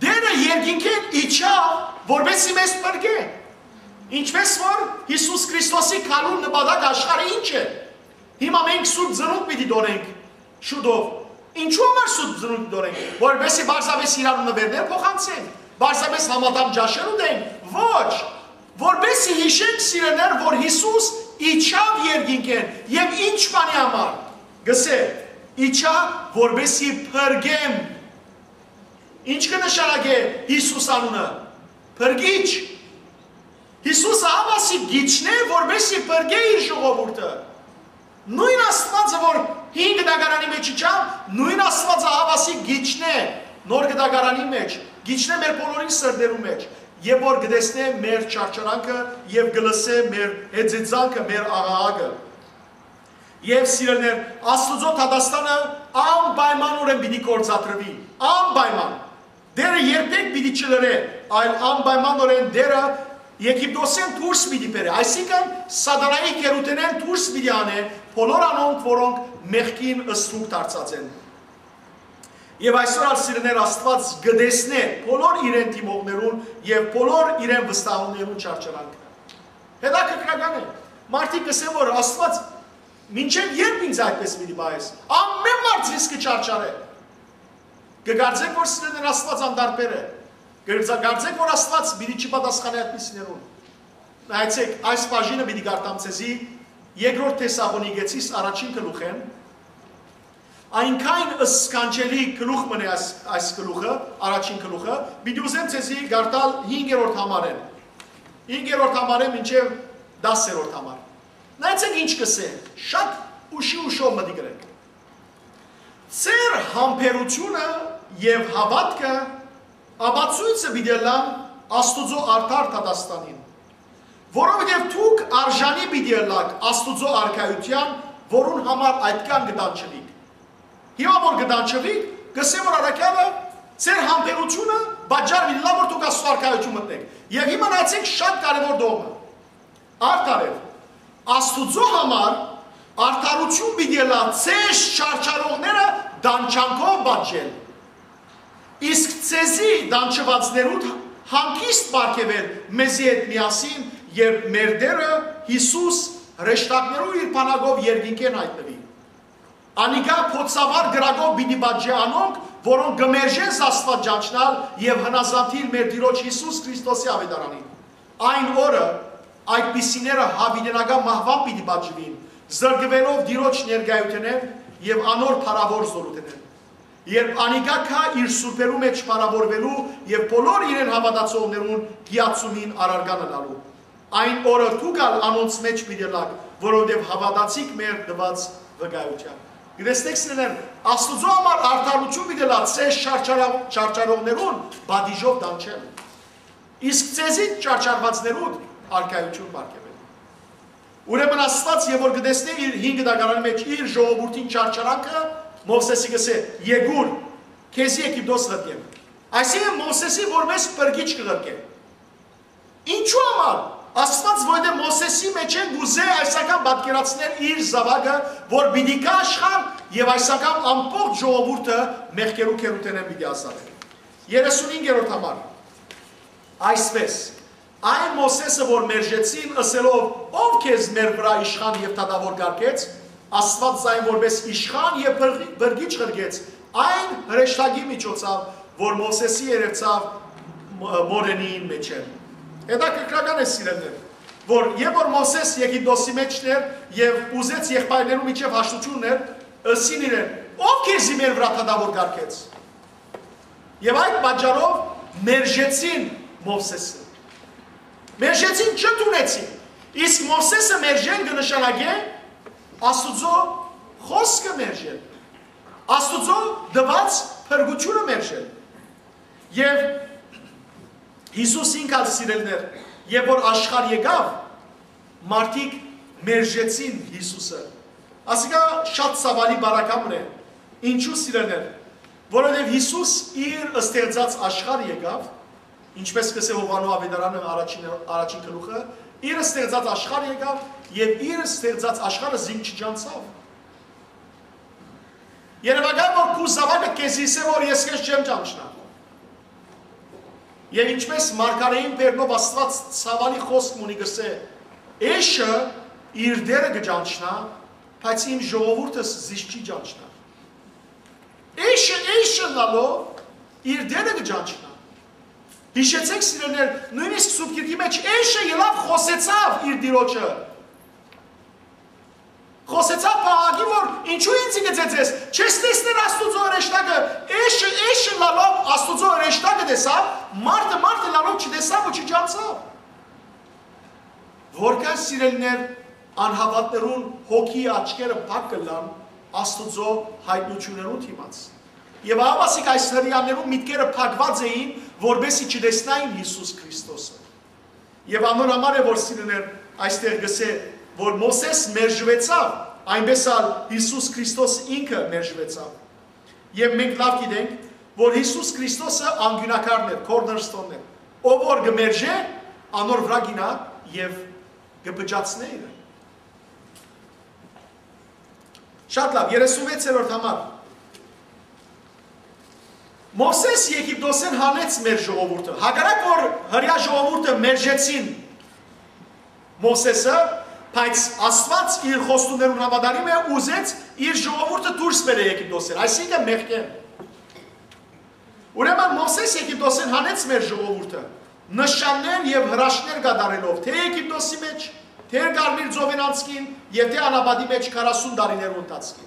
Տէրը երկինքէն իջաւ, որպեսզի մեզ փրկէ։ Ինչպես որ Յիսուս Քրիստոսի գալուն նպատակ աշխարհը ինչ է։ Հիմա մենք սուրբ ծնունդ պիտի տոնենք շուտով։ Ինչու՞ համար սուրբ ծնունդ տոնենք, որպեսզի պարզապէս իրար նուէրներ փոխանցենք, պարզապէս համատամ ճաշեր ուտենք։ Ոչ, որպեսզի յիշենք, սիրելիներ, որ Յիսուս իջաւ երկինքէն եւ ինչ բանի համար։ Կ'ըսէ. «Իջայ որպեսզի փրկեմ»։ Ինչ կը նշանակէ Յիսուս անունը։ Փրկիչ։ Յիսուսը ահաւասիկ կ'իջնէ, որպեսզի փրկէ իր ժողովուրդը։ Նոյն Աստուածը որ հին կտակարանի մէջ իջաւ, նոյն Աստուածը ահաւասիկ կ'իջնէ նոր կտակարանի մէջ, կ'իջնէ մեր բոլորին սրտերու մէջ, եւ որ կը տեսնէ մեր չարչարանքը եւ կը լսէ մեր հեծեծանքը, մեր աղաղակը։ Եւ սիրելիներ, Աստուծոյ դատաստանը անպայմանօրէն պիտի գործադրուի, անպայման։ Տէրը երբեք պիտի չլռէ, այլ անպայմանօրէն Տէրը Եգիպտոսէն դուրս պիտի բերէ, այսինքն՝ Սատանայի գերութենէն դուրս պիտի անէ բոլոր անոնք, որոնք մեղքին ստրուկ դարձած են։ Եւ այսօր ալ, սիրելիներ, Աստուած կը տեսնէ բոլոր իրեն դիմողներուն եւ բոլոր իրեն վստահողներուն չարչարանքը։ Հետաքրքրական է, մարդիկ կ'ըսեն, որ Աստուած, մինչեւ ե՞րբ ինձ այդպես պիտի պահես։ Ամէն մարդ զիս կը չարչարէ։ Կը կարծեք, որ սիրելիներ, Աստուած անդարբեր է։ Կը կարծեք, որ Աստուած պիտի չի պատասխանէ այդպիսիներուն։ Նայեցեք, այս բաժինը պիտի կարդամ ձեզի Երկրորդ Թեսաղոնիկեցիս առաջին գլուխէն, այնքան սքանչելի գլուխ մնե այս, այս գլուխը, առաջին գլուխը, պիտի ուզեմ ձեզի կարդալ հինգերորդ համարէն։ Հինգերորդ համարէն մինչեւ տասերորդ համար։ Նայեցեք ինչ կ'ըսէ, շատ ուշի ուշով մտիկ ըրեք։ Ձեր համբերութիւնը եւ հաւատքը ապացոյցը պիտի ըլլան Աստուծոյ արդար դատաստանին, որովհետեւ դուք արժանի պիտի ըլլաք Աստուծոյ արքայութեան, որուն համար այդքան կը տանջուիք։ Հիմա որ կը տանջուիք, կ'ըսէ, որ առաքեալը ձեր համբերութիւնը պատճառ պիտի ըլլայ, որ դուք Աստուծոյ արքայութիւն մտնէք։ Եւ հիմա նայեցեք շատ կարեւոր դողմը։ Արդարեւ, Աստուծոյ համար արդարութիւն պիտի ըլլայ ձեզ չարչարողները տանջանքով պատժել, իսկ ձեզի տանջուածներուդ հանգիստ պարգեւել մեզի հետ միասին, երբ մեր Տէրը Յիսուս հրեշտակներու իր բանակով երկինքէն յայտնուի։ Անիկա փոցավար կրակով պիտի պատժէ անոնք, որոնք կը մերժեն Աստուած ճանչնալ եւ հնազանդիլ մեր Տիրոջ Յիսուս Քրիստոսի աւետարանին։ Այն օրը այդպիսիները յաւիտենական մահուան պիտի պատժուին, զրկուելով Տիրոջ ներկայութենէն եւ անոր փառաւոր զօրութենէն։ Երբ անիկա գայ իր սուրբերու մէջ փառաւորուելու եւ բոլոր իրեն հաւատացողներուն կիացումին առարկան ըլլալու, այն օրը դուք ալ անոնց մէջ պիտի ըլլաք, որովհետեւ հաւատացիք մեր տուած վկայութեան։ Գիտեցնեք, սիրելիներ, Աստուծոյ համար արդարութիւն պիտի ըլլայ ձեզ չարչարա-, չարչարողներուն պատիժով տանջել, իսկ ձեզի չարչարուածներուն արքայութիւն պարգեւել։ Ուրեմն Աստուած եւ որ կը տեսնէ իր հին կտակարանի մէջ իր ժողովուրդին չարչարանքը, Մովսէսի կ'ըսէ. «Եկուր, քեզի Եգիպտոս ղրկեմ»։ Այսինքն Մովսէսի որ մեզ փրկիչ կը ղրկէ։ Ինչու համար։ Ասված, որովհետեւ Մովսէսի մէջէն կ'ուզէ այս անգամ պատկերացնել իր զաւակը, որ պիտի գայ աշխարհ եւ այս անգամ ամբողջ ժողովուրդը մեղքերու գերութենէն պիտի ազատէ։ Երեսունհինգերորդ համար։ Այսպէս, այն Մովսէսը, որ մերժեցին, ըսելով. «Ո՞վ քեզ մեր վրայ իշխան եւ դատաւոր կարգեց», Աստուած զայն որպէս իշխան եւ փրկի-, փրկիչ ղրկեց այն հրեշտակի միջոցաւ, որ Մովսէսի երեւցաւ մ-, մօրենին մէջէն։ Հետաքրքրական է, սիրելիներ, որ երբ որ Մովսէս Եգիպտոսի մէջն էր եւ ուզեց եղբայրներու միջեւ հաշտութիւններ, ըսին իրեն. «Ո՞վ քեզի մեր վրայ դատաւոր կարգեց»։ Եւ այդ պատճառով մերժեցին Մովսէսը։ Մերժեցին, չընդունեցին։ Իսկ Մովսէսը մերժել կը նշանակէ Աստուծոյ խօսքը մերժել, Աստուծոյ տուած փրկութիւնը մերժել։ Եւ Յիսուս ինք ալ, սիրելիներ, երբ որ աշխարհ եկաւ, մարդիկ մերժեցին Յիսուսը։ Ասիկա շատ ցաւալի բարակամն է։ Ինչու, սիրելիներ։ Որովհետեւ Յիսուս իր ստեղծած աշխարհ եկաւ, ինչպես կ'ըսէ Յովհաննէ Աւետարանը առաջին, առաջին գլուխը, իր ստեղծած աշխարհ եկաւ եւ իր ստեղծած աշխարհը զինք չճանչցաւ։ Երեւակայ որ քու զաւակը քեզի ըսէ որ ես քեզ չեմ ճանչնայ։ Եւ ինչպես մարգարէին բերնով Աստուած ցաւալի խօսք մունի կ'ըսէ. «Էշը իր դերը կը ճանչնայ, բայց իմ ժողովուրդս զիս չի ճանչնայ»։ Էշը, էշը ըլլալով իր դերը կը ճանչնայ։ Յիշեցէք, սիրելիներ, նոյնիսկ Սուրբ Գիրքի մէջ էշը ելաւ խօսեցաւ իր Տիրոջը։ Խօսեցաւ փաղակի, որ ինչու ինձի կը ծեծես, չես տեսներ Աստուծոյ հրեշտակը, էշը, էշը ըլլալով Աստուծոյ հրեշտակը տեսաւ, մարդը, մարդը ըլլալով չտեսաւ ու չճանչցաւ։ Որքան, սիրելիներ, անհաւատներուն հոգի աչքերը փակ կ'ըլլան Աստուծոյ յայտնութիւններուն դիմաց։ Եւ ահա ասիկ այս հրեաներուն միտքերը փակուած էին, որպեսզի չտեսնային Յիսուս Քրիստոսը։ Եւ անոր համար է, որ, սիրելիներ, այստեղ կ'ըսէ, որ Մովսէս մերժուեցաւ, այնպէս ալ Յիսուս Քրիստոս ինքը մերժուեցաւ։ Եւ մենք լաւ գիտենք, որ Յիսուս Քրիստոսը անկիւնակարն էր, cornerstone-ն էր։ Ով որ կը մերժէ, անոր վրայ կ'իյնայ եւ կը փճացնէ իրեն։ Շատ լաւ, երեսունվեցերորդ համար։ Մովսէս Եգիպտոսէն հանեց մեր ժողովուրդը։ Հակառակ որ հրեայ ժողովուրդը մերժեցին Մովսէսը, բայց Աստուած իր խոստումներուն համատարիմ է, ուզեց իր ժողովուրդը դուրս բերէ Եգիպտոսէն, այսինքն մեղքէն։ Ուրեմն Մովսէս Եգիպտոսէն հանեց մեր ժողովուրդը, նշաններ եւ հրաշքներ կատարելով, թէ Եգիպտոսի մէջ, թէ Կարմիր ծովին անցքին եւ թէ անապատի մէջ քառասուն տարիներու ընթացքին։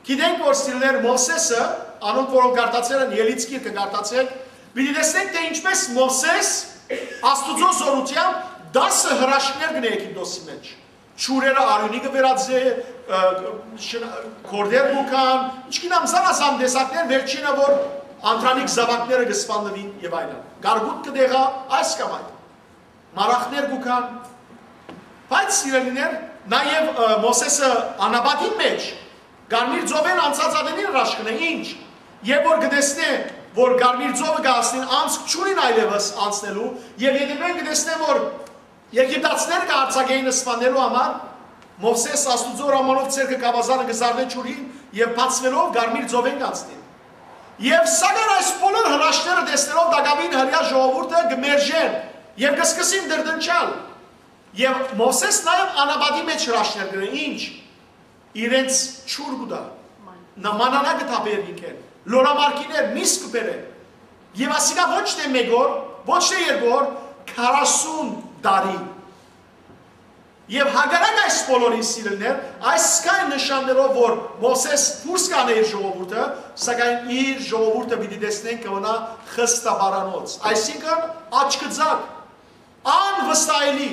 Գիտենք, որ, սիրելիներ, Մովսէսը, անոնք, որոնք կարդացեր են Ելից գիրքը, կարդացեք, պիտի տեսնենք, թէ ինչպես Մովսէս Աստուծոյ զօրութեամբ տասը հրաշքներ կ'ընէ Եգիպտոսի մէջ։ Ջուրերը արիւնի կը վերածէ, ը, շն-, գորտեր կու գան, ինչքան ամ զանազան տեսակներ, վերջինը որ անդրանիկ զաւակները կը սպաննուին եւ այլն։ Կարկուտ կը տեղայ այս կամ այն։ Մարախներ կու գան։ Բայց, սիրելիներ, նաեւ, ը, Մովսէսը անապատին մէջ, Կարմիր ծովէն անցած ատենին հրաշքն է, ինչ։ Երբ որ կը տեսնէ, որ Կարմիր ծովը կը հասնին, անցք չունին այլեւս անցնելու, եւ ետեւէն կը տեսնէ, որ Եգիպտացիները կը յարձակէին սպանելու համար, Մովսէս Աստուծոյ հրամանով ձեռքը կ'աւազանէ, կը զարնէ ջուրին եւ բացուելով Կարմիր ծովէն կ'անցնին։ Եւ սակայն այս բոլոր հրաշքները տեսնելով տակաւին հրեայ ժողովուրդը կը մերժեն եւ կը սկսին դրդնչալ։ Եւ Մովսէս նաեւ անապատի մէջ հրաշքներ կ'ընէ, ինչ, իրենց ջուր կու տայ, նմանանա կը թափէր ինքեն, լորամարգիներ, միս կը բերէ։ Եւ ասիկա ոչ թէ մէկ օր, ոչ թէ երկու օր, քառասուն տարի։ Եւ հակառակ այս բոլորին, սիրելիներ, այս սկայն նշաններով որ Մովսէս դուրս կ'անէ իր ժողովուրդը, սակայն իր ժողովուրդը պիտի տեսնենք կը մնայ խստաբարանոց, այսինքն աչքծակ, անվստահելի։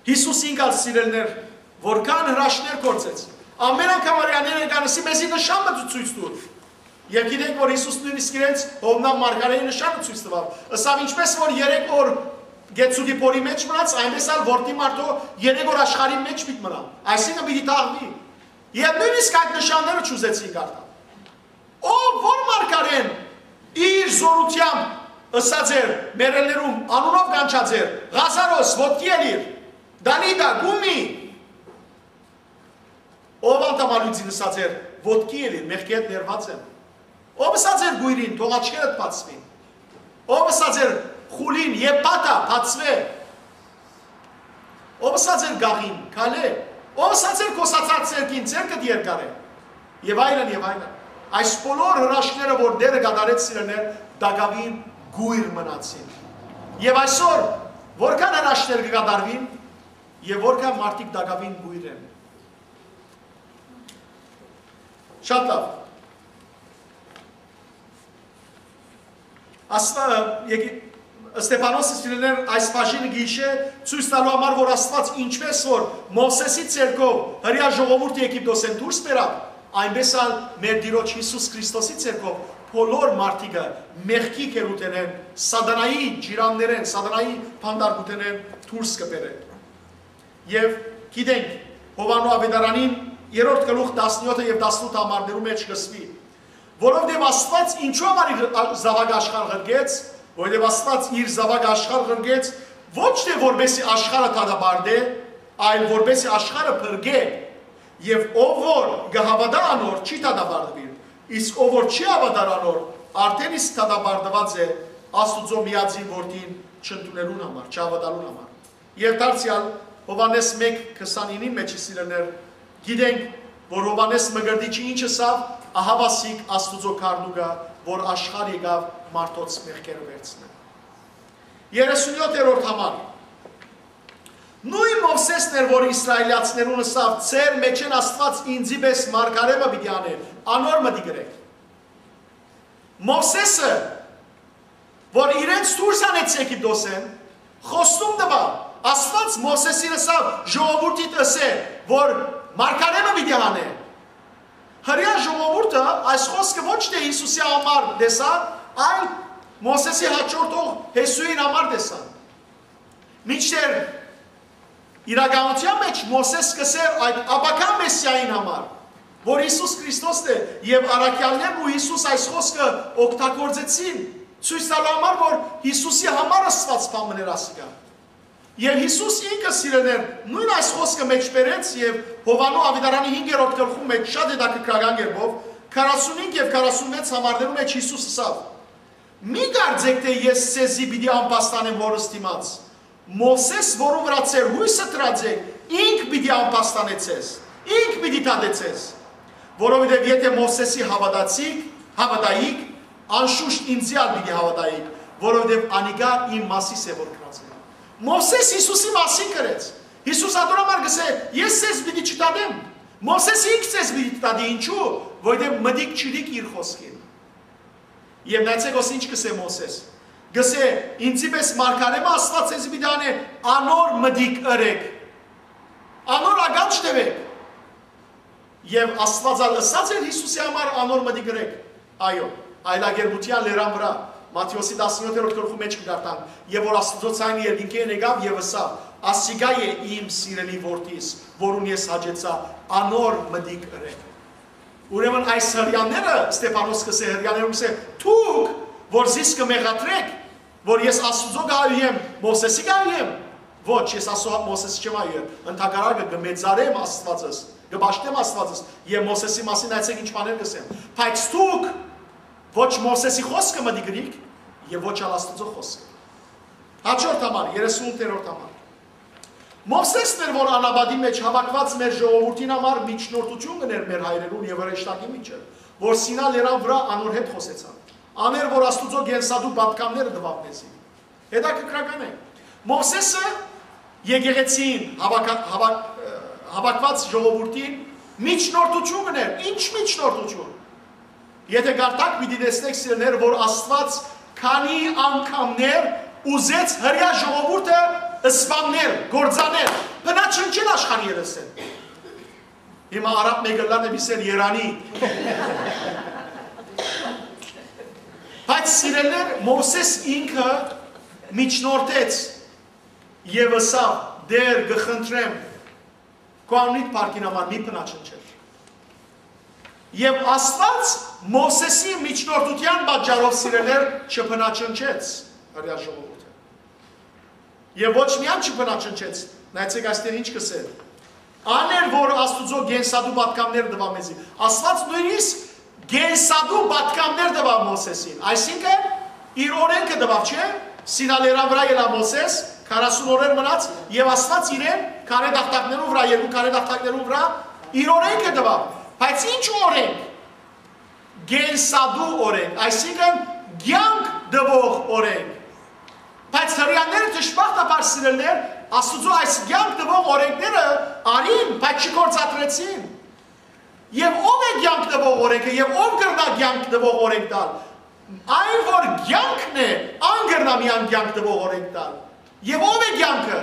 Յիսուս ինք ալ, սիրելիներ, որքան հրաշքներ գործեց, ամեն անգամ հրեաները կ'անցնին, մեզի նշան մը ցոյց տուր։ Եւ գիտենք, որ Յիսուս նոյնիսկ իրենց Յովնան մարգարէի նշանը ցոյց տուաւ։ Ըսաւ, ինչպես որ երեք օր Գեցուկի փորի մէջ մնաց, այնպես ալ որդի մարդոյ երեք օր աշխարհի մէջ պիտի մնայ, այսինքն պիտի թաղուի։ Եւ նոյնիսկ այդ նշանները չուզեցին կարդալ։ Ով որ մարգարէն իր զօրութեամբ Ըսած էր, մեռելներուն անունով կանչած էր. «Ղազարոս, ոտքի ելիր»։ «Տալիթա, կումի»։ Ով անդամալուծին ըսած էր. «Ոտքի ելիր, մեղքի հետ ներված եմ»։ Ով ըսած էր կոյրին. «Թող աչքերդ բացուին»։ Ով ըսած էր խուլին. «Եփաթա, բացուէ»։ Ով ըսած էր գաղին. «Քալէ»։ Ով ըսած էր կոսացած ձեռքին. «Ձեռքդ երկարէ»։ Եւ այլն, եւ այլն։ Այս բոլոր հրաշքները, որ Տէրը կատարեց, սիրելիներ, տակաւին կոյր մնացին։ Եւ այսօր, որքան հրաշքներ կը կատարուին, եւ որքան մարդիկ տակաւին կոյր են։ Շատ լավ։ Աստղը, եկի-, Ստեփանոսը, սիրելիներ, այս բաժինը գիշե ցոյց տալու համար, որ Աստուած ինչպէս որ Մովսէսի ձեռքով հրեայ ժողովուրդը Եգիպտոսէն դուրս բերաւ, այնպէս ալ մեր Տիրոջ Յիսուս Քրիստոսի ձեռքով բոլոր մարդիկը մեղքի գերութենէն, սատանայի ջիրաններէն, սատանայի բանտարկութենէն դուրս կը բերէ։ Եւ գիտենք, Յովհաննու աւետարանին երրորդ գլուխ տասնեօթը եւ տասնութ համարներու մէջ կ'ըսուի, որովհետեւ Աստուած ինչու համար իր ա-, զաւակը աշխարհ ղրկեց, որովհետեւ Աստուած իր զաւակը աշխարհ ղրկեց, ոչ թէ որպեսզի աշխարհը դատապարտէ, այլ որպեսզի աշխարհը փրկէ, եւ ով որ կը հաւատայ անոր, չի դատապարտուիր, իսկ ով որ չի հաւատար անոր, արդէն իսկ դատապարտուած է Աստուծոյ միածին Որդին չընդունելուն համար, չհաւատալուն համար։ Եւ դարձեալ Յովհաննէս մէկ քսանինին մէջ, սիրելիներ, գիտենք, որ Յովհաննէս Մկրտիչը ինչ ըսաւ. «Ահա ասիկ Աստուծոյ գառնուկը, որ աշխարհ եկաւ մարդոց մեղքերը վերցնէ»։ Երեսունեօթերորդ համար։ Նոյն Մովսէսն էր, որ իսրայելացիներուն ըսաւ. «Ձեր մէջէն Աստուած ինծի պէս մարգարէ մը պիտի անէ, անոր մտիկ ըրէք»։ Մովսէսը, որ իրենց դուրս անեց Եգիպտոսէն, խոստում տուաւ, Աստուած Մովսէսին ըսաւ. «Ժողովուրդիդ ըսէ, որ մարգարէ մը պիտի անէ»։ Հրեայ ժողովուրդը այս խոսքը ոչ թէ Յիսուսի համար տեսան, այլ Մովսէսի հաջորդող Յիսուին համար տեսան։ Մինչդեռ իրականութեան մէջ Մովսէս կ'ըսէր այդ ապագայ Մեսիային համար, որ Յիսուս Քրիստոսն է, եւ առաքեալներն ու Յիսուս այս խոսքը օգտագործեցին, ցոյց տալու համար, որ Յիսուսի համար Աստուած բան մըն էր ասիկա։ Եւ Յիսուս ինքը, սիրելիներ, նոյն այս խոսքը մէջ բերեց եւ Յովհաննու աւետարանի հինգերորդ գլխուն մէջ շատ հետաքրքրական կերպով, քառասունհինգ եւ քառասունվեց համարներու մէջ Յիսուս ըսաւ. «Մի կարծէք թէ ես ձեզի պիտի ամբաստանեմ Հօրս դիմաց։ Մովսէս, որուն վրայ ձեր յոյսը դրած է, ինք պիտի ամբաստանէ ձեզ, ինք պիտի դատէ ձեզ։ Որովհետեւ եթէ Մովսէսի հաւատացիք, հաւատայիք, անշուշտ ինծի ալ պիտի հաւատայիք, որովհետեւ անիկա իմ մասիս է որ գրած է»։ Մովսէս Յիսուսի մասին գրեց։ Յիսուս ատոր համար կ'ըսէ. «Ես ձեզ պիտի չդատեմ։ Մովսէս ինք ձեզ պիտի դատի, ինչու՞, որովհետեւ մտիկ չդիք իր խոսքին»։ Եւ նայեցէք, ոս ինչ կ'ըսէ Մովսէս. կ'ըսէ. «Ինծի պէս մարգարէ մը Աստուած ձեզի պիտի անէ, անոր մտիկ ըրէք, անոր ականջ տեւէք»։ Եւ Աստուած ալ ըսած էր Յիսուսի համար. «Անոր մտիկ ըրէք»։ Այո, այլակերպութեան լերան վրայ, Մատթէոսի տասնեօթերորդ գլխու մէջ կը կարդանք, եւ որ Աստուծոյ ձայնը երկնքէն եկաւ եւ ըսաւ. «Ասիկա է իմ սիրելի որդիս, որուն ես հաճեցայ, անոր մտիկ ըրէք»։ Ուրեմն այս հրեաները, Ստեփանոս կ'ըսէ, հրեաներուն կ'ըսէ. «Դուք, որ զիս կը մեղադրէք, որ ես Աստուծոյ կ'այոյեմ, Մովսէսի կ'այոյեմ, ոչ, ես Աստուծոյ Մովսէսի չեմ այոյեր, ընդհակառակը կը մեծարեմ Աստուածս, կը պաշտեմ Աստուածս, եւ Մովսէսի մասին նայեցէք ինչ բաներ կ'ըսեմ, բայց դուք ոչ Մովսէսի խոսքը մտիկ ըրիք եւ ոչ ալ Աստուծոյ խոսքը»։ Հաջորդ համար, երեսունութերորդ համար։ Մովսէսն էր, որ անապատի մէջ հաւաքուած մեր ժողովուրդին համար միջնորդութիւն կ'ընէր մեր հայրերուն եւ հրեշտակի միջը, որ Սինա լերան վրայ անոր հետ խօսեցան։ Ան էր, որ Աստուծոյ կենսատու պատգամները տուաւ մեզի։ Հետաքրքրական է։ Մովսէսը եկեղեցին, հաւաք-, հաւաք-, ը, հաւաքուած ժողովուրդին միջնորդութիւն կ'ընէր։ Ինչ միջնորդութիւն։ Եթէ կարդաք, պիտի տեսնէք, սիրելիներ, որ Աստուած քանի անգամներ ուզեց հրեայ ժողովուրդը սպաննել, կործանել, բնաչնչել աշխարհի երեսէն։ Հիմա արաբ մէկը լան է, միսեր երանի։ Բայց, սիրելիներ, Մովսէս ինքը միջնորդեց եւ ըսաւ. «Տէր, կը խնդրեմ, քու անունիդ փառքին համար մի բնաչնչեր»։ Եւ Աստուած Մովսէսի միջնորդութեան պատճառով, սիրելիներ, չբնաջնջեց հրեայ ժողովուրդը։ Եւ ոչ միայն չբնաջնջեց, նայեցէք, այստեղ ինչ կ'ըսէ. «Ան էր, որ Աստուծոյ կենսատու պատգամներ տուաւ մեզի»։ Աստուած նոյնիսկ կենսատու պատգամներ տուաւ Մովսէսին, այսինքն՝ իր օրէնքը տուաւ, չէ՞։ Սինա լերան վրայ ելաւ Մովսէս, քառասուն օրեր մնաց, եւ Աստուած իրեն քարէ տախտակներուն վրայ, երկու քարէ տախտակներուն վրայ իր օրէնքը տուաւ։ Բայց ինչ օրէնք։ Կենսատու օրէնք, այսինքն՝ կեանք տուող օրէնք։ Բայց հրեաները, դժբախտաբար, սիրելիներ, Աստուծոյ այս կեանք տուող օրէնքները առին, բայց չգործադրեցին։ Եւ ո՞վ է կեանք տուող օրէնքը, եւ ո՞վ կրնայ կեանք տուող օրէնք տալ։ Այն, որ կեանքն է, ան կրնայ միայն կեանք տուող օրէնք տալ։ Եւ ո՞վ է կեանքը։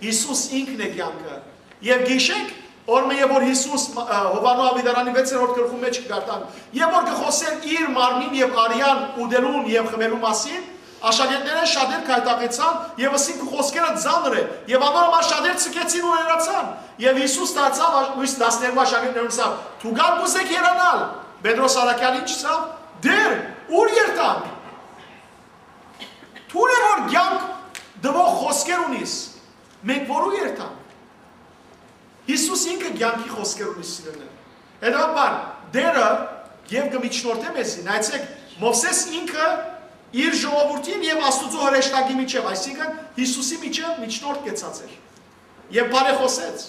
Յիսուս ինքն է կեանքը։ Եւ գիշեք, օրը, երբ որ Յիսուս, ը, Յովհաննէս Աւետարանի վեցերորդ գլխուն մէջ կը կարդանք, երբ որ կը խօսէր իր մարմնին եւ արեան ուտելուն եւ խմելու մասին, աշակերտներէն շատեր գայթակղեցան եւ ըսին. «Քու խօսքերը ծանր է»։ Եւ անոր համար շատեր ձգեցին ու հեռացան։ Եւ Յիսուս դարձաւ ա-,ոյս տասներկու աշակերտներուն, ըսաւ. «Դուք ալ կ'ուզէք հեռանալ»։ Պետրոս առաքեալ ինչ ըսաւ. «Տէր, ո՞ւր երթանք։ Դուն է, որ կեանք տուող խօսքեր ունիս, մենք որո՞ւ երթանք»։ Յիսուս ինքը կեանքի խօսքեր ունի, սիրելիներ։ Հետեւաբար, Տէրը եւ կը միջնորդէ մեզի։ Նայեցէք, Մովսէս ինքը իր ժողովուրդին եւ Աստուծոյ հրեշտակի միջեւ, այսինքն՝ Յիսուսի միջեւ միջնորդ կեցած էր եւ բարեխօսեց։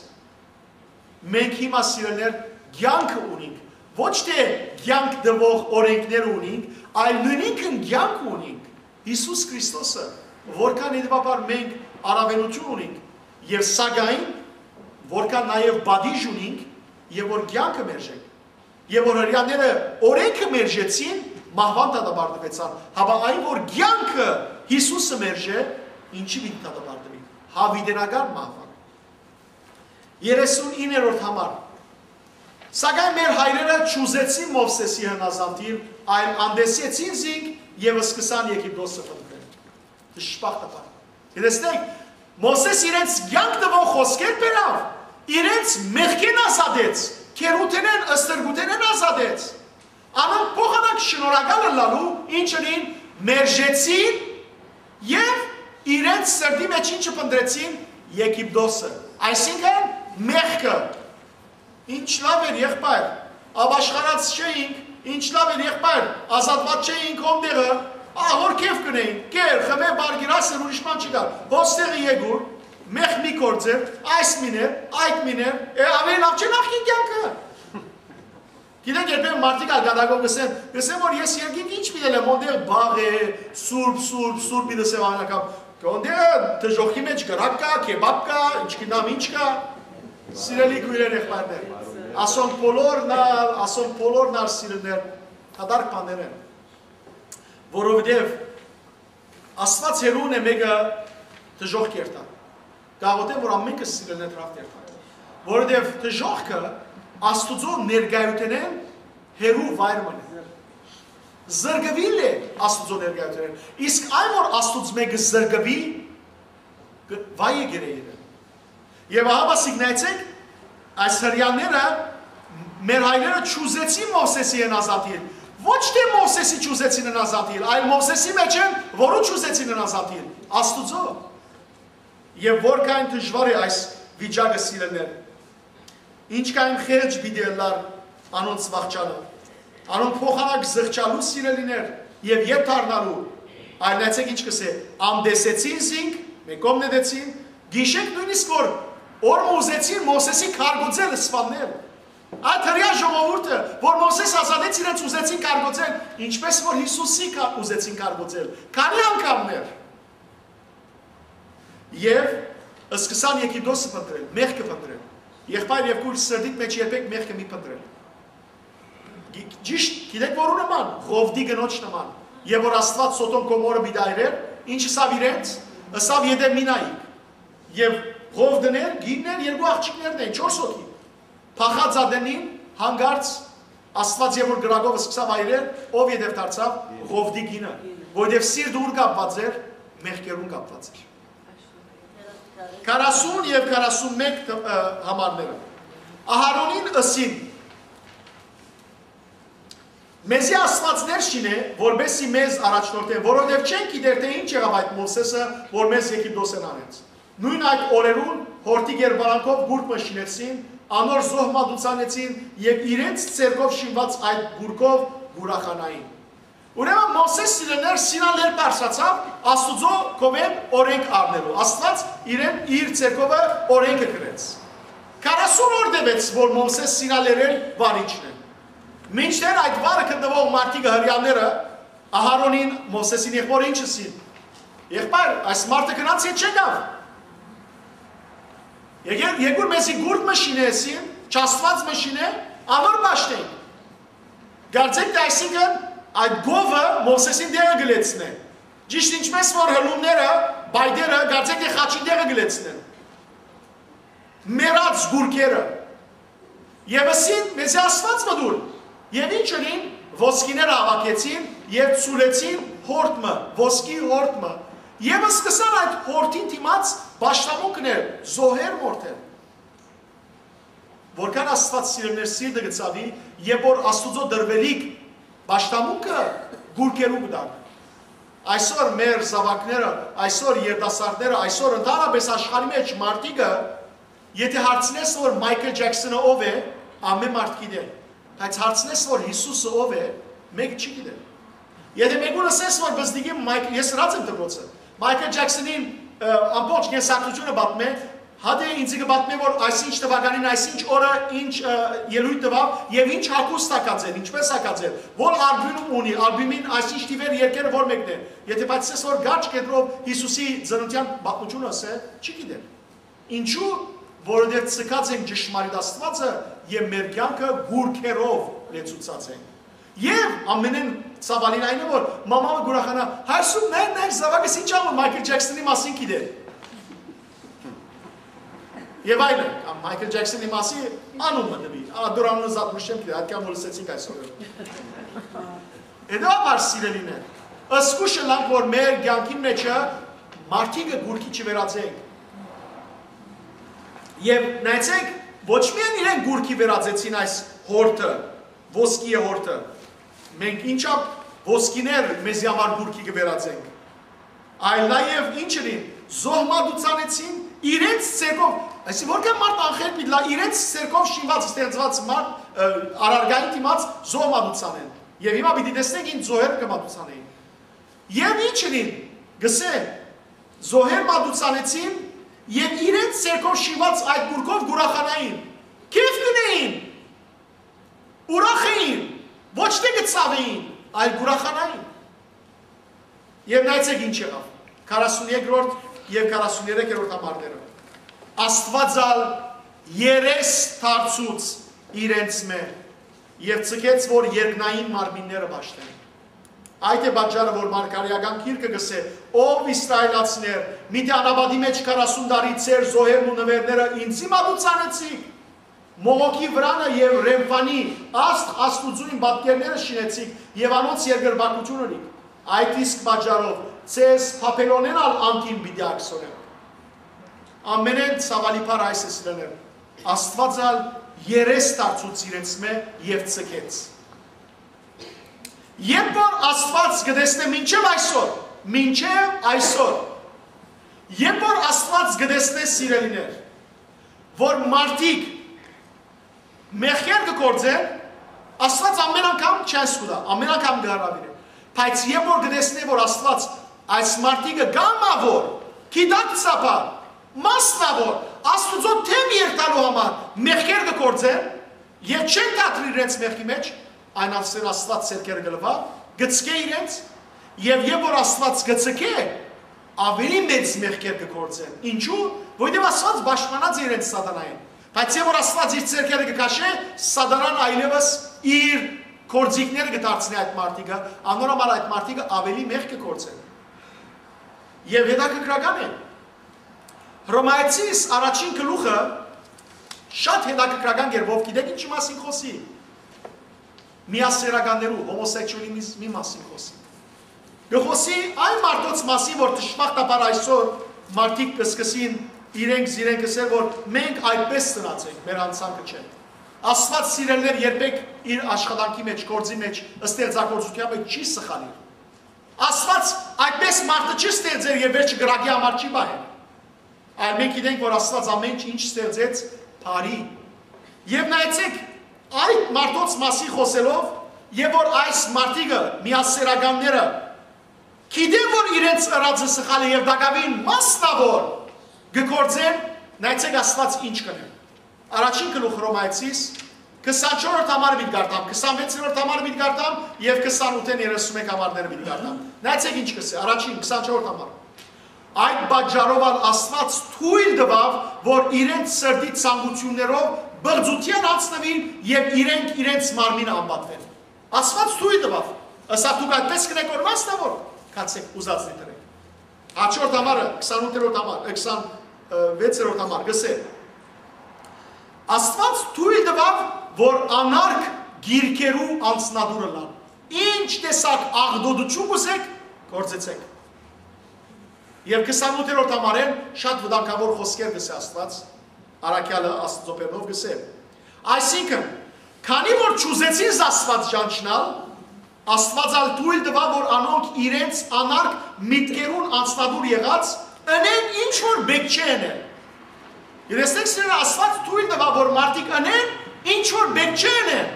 Մենք հիմա, սիրելիներ, կեանքը ունինք, ոչ թէ կեանք տուող օրէնքները ունինք, այլ նոյնինքն կեանքը ունինք, Յիսուս Քրիստոսը, որքան հետեւաբար մենք առաւելութիւն ունինք, եւ սակայն, որքան նաեւ պատիժ ունինք, եւ որ կեանքը մերժենք, եւ որ հրեաները օրէնքը մերժեցին, մահուան դատապարտուեցան, հապա այն, որ կեանքը Յիսուսը մերժէ, ինչի՞ պիտի դատապարտուի։ Յաւիտենական մահուան։ Երեսունիններորդ համար։ Սակայն մեր հայրերը չուզեցին Մովսէսի հնազանդիլ, այլ անտեսեցին զինք եւ սկսան Եգիպտոսը փնտռել։ Դժբախտաբար։ Տեսնեք, Մովսէս իրենց կեանք տուող խօսքեր բերաւ, իրենց մեղքէն ազատեց, գերութենէն, ստրկութենէն ազատեց։ Անոնք փոխանակ շնորհակալ ըլլալու, ինչ ընին, մերժեցին եւ իրենց սրտի մեջ ինչը փնտռեցին, Եգիպտոսը, այսինքն՝ մեղքը։ Ինչ լաւ էր, եղբայր, ապաշխարած չէինք, ինչ լաւ էր, եղբայր, ազատուած չէինք հոն տեղը, ահոր քեֆ կ'ընէինք, կեր, խմէ, բարգիր, ասեր, ուրիշ բան չկար։ Հոս տեղը եկուր, մեղք մի գործեր, այս մին էր, այդ մին էր, է, աւելի լաւ չէ՞ նախկին կեանքը։ Գիտեք, երբեմն մարդիկ ալ կատակով կ'ըսեն, կ'ըսեն, որ ես երկինք ինչ պիտի ըլեմ, հոն տեղ բաղ է, սուրբ, սուրբ, սուրբ պիտի ըսեմ աննական։ Հոն տեղը դժոխքի մեջ կրակ կայ, քեբապ կայ, ինչ գիտեմ, ինչ կայ։ Սիրելի քոյրեր, եղբայրներ, ասոնք բոլորն ալ, ասոնք բոլորն ալ, սիրելիներ, դատարկ բաներ են, որովհետեւ Աստուած հեռուն է մէկը դժոխք երթայ։ Կաղոթեմ, որ ամենքս, սիրելիներ, դրախտ երթանք, որովհետեւ դժոխքը Աստուծոյ ներկայութենէն հեռու վայր մըն է։ Զրկուիլ է Աստուծոյ ներկայութենէն։ Իսկ այն, որ Աստուծմէ կը զրկուի, կը-, վայ է գերեին։ Եւ ահա, ասիկ, նայեցեք, այս հրեաները, մեր հայրերը չուզեցին Մովսէսի հնազանդիլ։ Ոչ թէ Մովսէսի չուզեցին հնազանդիլ, այլ Մովսէսի մեջ են, որու չուզեցին հնազանդիլ, Աստուծոյ։ Եւ որքան դժուար է այս վիճակը, սիրելիներ։ Ինչքան խեղճ պիտի ըլլար անոնց վախճանը։ Անոնք փոխանակ զղջալու, սիրելիներ, եւ ետ դառնալու, այլ նայեցեք ինչ կ'ըսէ. «Անտեսեցին զինք», մէկ կողմ նետեցին, գիշեք նոյնիսկ որ օր մը ուզեցին Մովսէսի քարգոծել, սպաննել։ Այդ հրեայ ժողովուրդը, որ Մովսէս ազատեց, իրենց ուզեցին քարգոծել, ինչպես որ Յիսուսի կա-, ուզեցին քարգոծել։ Քանի՞ անգամներ։ Եւ սկսան Եգիպտոսը փնտռել, մեղքը փնտռել։ Եղբայր եւ քույր, սրտիդ մեջ երբեք մեղքը մի փնտռել։ Գի-, ճիշտ, գիտեք որու նման, Ղովտի կնոջ նման։ Եւ որ Աստուած Սոդոմ Գոմորը պիտի այրեր, ինչ ըսաւ իրենց, ըսաւ. «Եթէ մի նայիք»։ Եւ Ղովտն էր, գինն էր, երկու աղջիկներն են, չորս հոգի։ Փախած ատենին, հանկարծ Աստուած երբ որ կրակով սկսաւ այրել, ով ետեւ դարձաւ? Ղովտի գինը, որովհետեւ սիրտը ո՞ւր կապված էր, մեղքերուն կապված էր։ Քառասուն եւ քառասուն մէկ տ-, ը, համարները։ Ահարոնին ըսին. Մեզի Աստուած ներ շինէ, որպէս զի մեզ առաջնորդեն, որովհետեւ չենք գիտեր թէ ինչ եղաւ այդ Մովսէսը, որ մեզ Եգիպտոսէն անեց։ Նոյն այդ օրերուն յորտի կերպարանքով գուրգ մը շինեցին, անոր զոհ մատուցանեցին եւ իրենց ձեռքով շինուած այդ գուրգով կ'ուրախանային։ Ուրեմն Մովսէս, սիրելիներ, Սինա լեռ բարձրացաւ Աստուծոյ կողմէն օրէնք առնելու։ Աստուած իրեն իր ձեռքովը օրէնքը կրեց։ Քառասուն օր տեւեց, որ Մովսէս Սինա լեռէն վարիչն է։ Մինչդեռ այդ վարը գտնուող մարդիկը, հրեաները, Ահարոնին, Մովսէսին եղբօրը ինչ ըսին։ «Եղբայր, այս մարդը գնաց, ետ չեկաւ։ Եկե-, եկուր մեզի գուրգ մը շինէ», ըսին, «չաստուած մը շինէ, անոր պաշտենք»։ Կարծեք թէ այսինքն այդ գովը Մովսէսին տեղը կը լեցնէ։ Ճիշդ ինչպէս որ հլումները, պայտերը, կարծեք թէ խաչին տեղը կը լեցնեն։ Մեռած գուրգերը։ Եւ ըսին, «Մեզի Աստուած մը տուր»։ Եւ ինչ ըրին, ոսկիները հաւաքեցին եւ ցուլեցին յորդ մը, ոսկի յորդ մը։ Եւ սկսան այդ յորդին դիմաց պաշտամունքներ, զոհեր մորթել։ Որքան Աստուած, սիրելիներ, սիրտը կը ցաւի, երբ որ Աստուծոյ տրուելիք պաշտամունքը գուրգերու կու տան։ Այսօր մեր զաւակները, այսօր երիտասարդները, այսօր ընդհանրապէս աշխարհի մէջ մարդիկը, եթէ հարցնես, որ Մայքլ Ջեքսոնը ով է, ամէն մարդ գիտէ։ Բայց հարցնես, որ Յիսուսը ով է, մէկը չի գիտեր։ Եթէ մէկուն ըսես, որ բզդիկի Մայք-, ես ըրած եմ դպրոցը, Մայքլ Ջեքսոնին, ը, ամբողջ կենսագրութիւնը պատմէ, հատէ ինձ կը պատմէ, որ այսինչ թվականին, այսինչ օրը, ինչ, ը, ելոյթ տուաւ եւ ինչ հագուստ հագած էր, ինչպէս հագած էր, որ ալբիւմ ունի, ալբիւմին այսինչ թիվեր երկերը որ մեկն է։ Եթէ բայց ըսես, որ կարճ կեդրով Յիսուսի ծննդեան պատմութիւնը ըսէ, չի գիտեր։ Ինչու՞, որովհետեւ ձգած ենք ճշմարիտ Աստուածը եւ մեր կեանքը գուրգերով լեցուցած ենք։ Եւ ամենէն ցաւալին այն է, որ մամանը կ'ուրախանայ, «Հայր Սուրբ, նայ, նայ, զաւակս ինչ ա, որ Մայքլ Ջեքսոնի մասին գիտեր»։ Եւ այլն, կամ Մայքլ Ջեքսոնի մասին անունը տուի, ա, դուր անունը զատ միշտ չեմ գիտեր, այդքան որ լսեցինք այսօր։ Հետեւաբար, սիրելիներ, զգուշ ըլլանք, որ մեր կեանքին մեջը մարդիկը գուրգի չվերածենք։ Եւ նայեցեք, ոչ միայն իրեն գուրգի վերածեցին այս յորդը, ոսկիի յորդը, մենք ինչա ոսկիներ մեզի համար գուրգի կը վերածենք, այլ նաեւ ինչ ըրին, զոհ մատուցանեցին իրենց ձեռքով, այսինքն որքան մարդ անխելք պիտի լա, իրենց ձեռքով շինուած, ստեղծուած մարդ, ը, առարգային դիմաց զոհ մատուցանեն։ Եւ հիմա պիտի տեսնենք, ինչ զոհեր կը մատուցանեին։ Եւ ինչ ըրին, գսե, զոհեր մատուցանեցին եւ իրենց ձեռքով շինուած այդ գուրգով կ'ուրախանային, քեֆ կ'ունէին, ուրախ էին, ոչ թէ կը ցաւէին, այլ կ'ուրախանային։ Եւ նայեցեք ինչ եղաւ. քառասուն երկրորդ եւ քառասուն երեքերորդ համարները։ Աստուած ալ երես դարձուց իրենց մէ եւ ձգեց, որ երկնային մարմինները պաշտեն։ Այդ է պատճառը, որ Մարգարեական գիրքը կ'ըսէ. «Ով Իսրայելացիներ, միթէ անապատի մէջ քառասուն տարի ձեր զոհերն ու նուէրները ինծի մատուցանեցիք, մողոքի վրանը եւ Ռեմֆանի աստղ աստուածուհին պատկերները շինեցիք եւ անոնց երկրպագութիւն ըրիք։ Այդ իսկ պատճառով ձեզ Բաբելոնէն ալ անկին պիտի ակսորեմ»։ Ամենէն ցաւալի բառ այս է, սիրելիներ. Աստուած ալ երես դարձուց իրենց մէ եւ ձգեց։ Երբ որ Աստուած կը տեսնէ մինչեւ այսօր, մինչեւ այսօր, երբ որ Աստուած կը տեսնէ, սիրելիներ, որ մարդիկ մեղքեր կը գործեն, Աստուած ամեն անգամ չանց կու տայ, ամեն անգամ կը հրաւիրէ։ Բայց երբ որ կը տեսնէ, որ Աստուած այս մարդիկը կամաւոր, գիտակցաբար, մասնաւոր, Աստուծոյ դէմ երթալու համար մեղքեր կը գործեն, եւ չեն դադրիր իրենց մեղքի մէջ, այն ասեն Աստուած ձեռքերը կը լուայ, կը ցկէ իրենց, եւ երբ որ Աստուած կը ցկէ, ավելի մեծ մեղքեր կը գործեն։ Ինչու՞, որովհետեւ Աստուած պաշտպանած է իրենց սատանային։ Բայց երբ որ Աստուած իր ձեռքերը կը քաշէ, սատանան այլեւս իր գործիքները կը դարձնի այդ մարդիկը, անոր համար այդ մարդիկը ավելի մեղք կը գործեն։ Եւ հետաքրքրական է, Հռոմայեցիս առաջին գլուխը շատ հետաքրքրական կերպով, գիտեք ինչի՞ մասին խօսի։ Միասեռականներու, հոմոսեքսուալիզմի մասին խօսի։ Կը խօսի այն մարդոց մասին, որ դժբախտաբար այսօր մարդիկ կը սկսին իրենք զիրենք ըսել, որ մենք այդպես ծնած ենք, մեր անցանկը չէ։ Աստուած, սիրելիներ, երբեք իր աշխատանքի մէջ, գործի մէջ, ստեղծագործության մէջ չի սխալիր։ Աստուած այդպես մարդը չի ստեղծեր եւ վերջը կրակի համար չի պահեր։ Այլ մենք գիտենք, որ Աստուած ամէն ինչ ստեղծեց բարի։ Եվ նայեցեք, այդ մարդոց մասին խօսելով, եւ որ այս մարդիկը, միասերականները, գիտեն, որ իրենց ըրածը սխալ է եւ տակաւին մասնաւոր կը գործեն, նայեցեք Աստուած ինչ կ'ընէ։ Առաջին գլուխ Հռոմայեցիս, քսանչորսերորդ համար պիտի կարդամ, քսանվեցերորդ համար պիտի կարդամ եւ քսանութ երեսունմեկ համարները պիտի կարդամ։ Նայեցեք ինչ կ'ըսէ, առաջին, քսանչորսերորդ համար։ Այդ պատճառով ալ Աստուած թոյլ տուաւ, որ իրենց սրտի ցանկութիւններով բղծութեան անցնուին եւ իրենք իրենց մարմինը անպատուեն։ Աստուած թոյլ տուաւ։ Ըսա, դուք այդպես կ'ընէք, որ մասնաւոր, գացեք, ուզածնի դրեք։ Հաջորդ համարը, քսանութերորդ համար, քսանվեցերորդ համար, կ'ըսէ. Աստուած թոյլ տուաւ, որ անարգ գիրքերու անձնատուր ըլլան։ Ինչ տեսակ աղտոտութիւն կ'ուզէք, գործեցեք։ Եւ քսանութերորդ համարէն շատ վտանգաւոր խօսքեր կ'ըսէ Աստուած, առաքեալը Աստուծոյ բերնով կ'ըսէ. Այսինքն, քանի որ չուզեցին Աստուած ճանչնալ, Աստուած ալ թոյլ տուաւ, որ անոնք իրենց անարգ միտքերուն անձնատուր եղած, ընեն ինչ որ պէտք չէ ընեն։ Տեսնեք, սիրելիներ, Աստուած թոյլ տուաւ, որ մարդիկ ընեն ինչ որ պէտք չէ ընեն։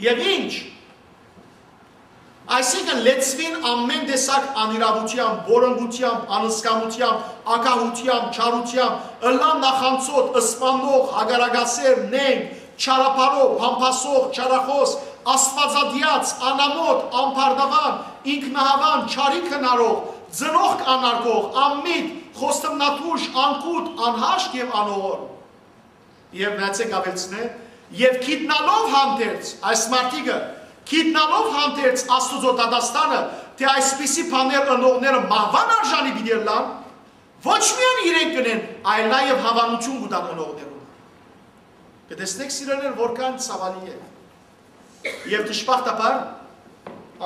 Եւ ինչ։ Այսինքն, լեցուին ամէն տեսակ անիրաւութեամբ, որոնկութեամբ, անզգամութեամբ, ագահութեամբ, չարութեամբ, ըլլան նախանցոտ, սպաննող, հակառակասեր, նենգ, չարաբարոյ, բամբասող, չարախօս, աստուածատեաց, անամոթ, ամբարտաւան, ինքնահաւան, չարիք հնարող, ծնողք անարգող, անմիտ, խոստմնատուժ, անկուտ, անհաշտ եւ անողոր։ Եւ նայեցեք, աւելցնէ, եւ գիտնալով հանդերձ, այս մարդիկը, գիտնալով հանդերձ Աստուծոյ դատաստանը, թէ այսպիսի բաներ ընողները մահուան արժանի պիտի ըլլան, ոչ միայն իրենք կ'ընեն, այլ նաեւ հաւանութիւն կու տան ընողներուն։ Կը տեսնեք, սիրելիներ, որքան ցաւալի է։ Եւ դժբախտաբար,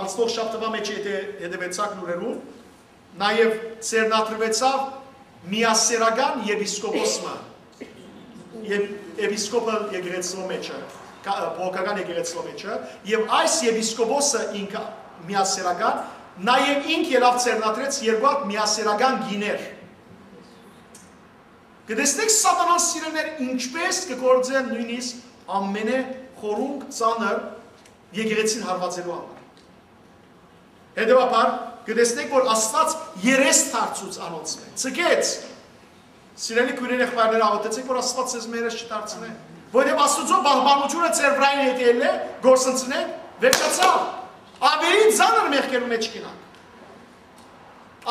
անցնող շաբթուայ մէջ, եթե հետեւեցաք լուրերուն, նաեւ ձեռնադրուեցաւ միասերական եպիսկոպոս մը, եպ-, եպիսկոպը եկեղեցւոյ մէջը, կա-, բողոքական եկեղեցւոյ մէջը, եւ այս եպիսկոպոսը ինքը միասերական, նաեւ ինք ելաւ ձեռնադրեց երկու հատ միասերական կիներ։ Կը տեսնեք, սատանան, սիրելիներ, ինչպէս կը գործէ նոյնիսկ ամենէ խորունկ, ծանր եկեղեցին հարվածելու համար։ Հետեւաբար, կը տեսնեք, որ Աստուած երես դարձուց անոնցմէ, ձգեց։ Սիրելի քոյրեր, եղբայրներ, աղօթեցեք, որ Աստուած ձեզմէ երես չդարձնէ։ Որովհետեւ Աստուծոյ պահպանութիւնը ձեր վրայ, եթե ելլէ, գործընծնէ, վերջացաւ։ Աւելի ծանր մեղքերու մէջ կ'ընանք։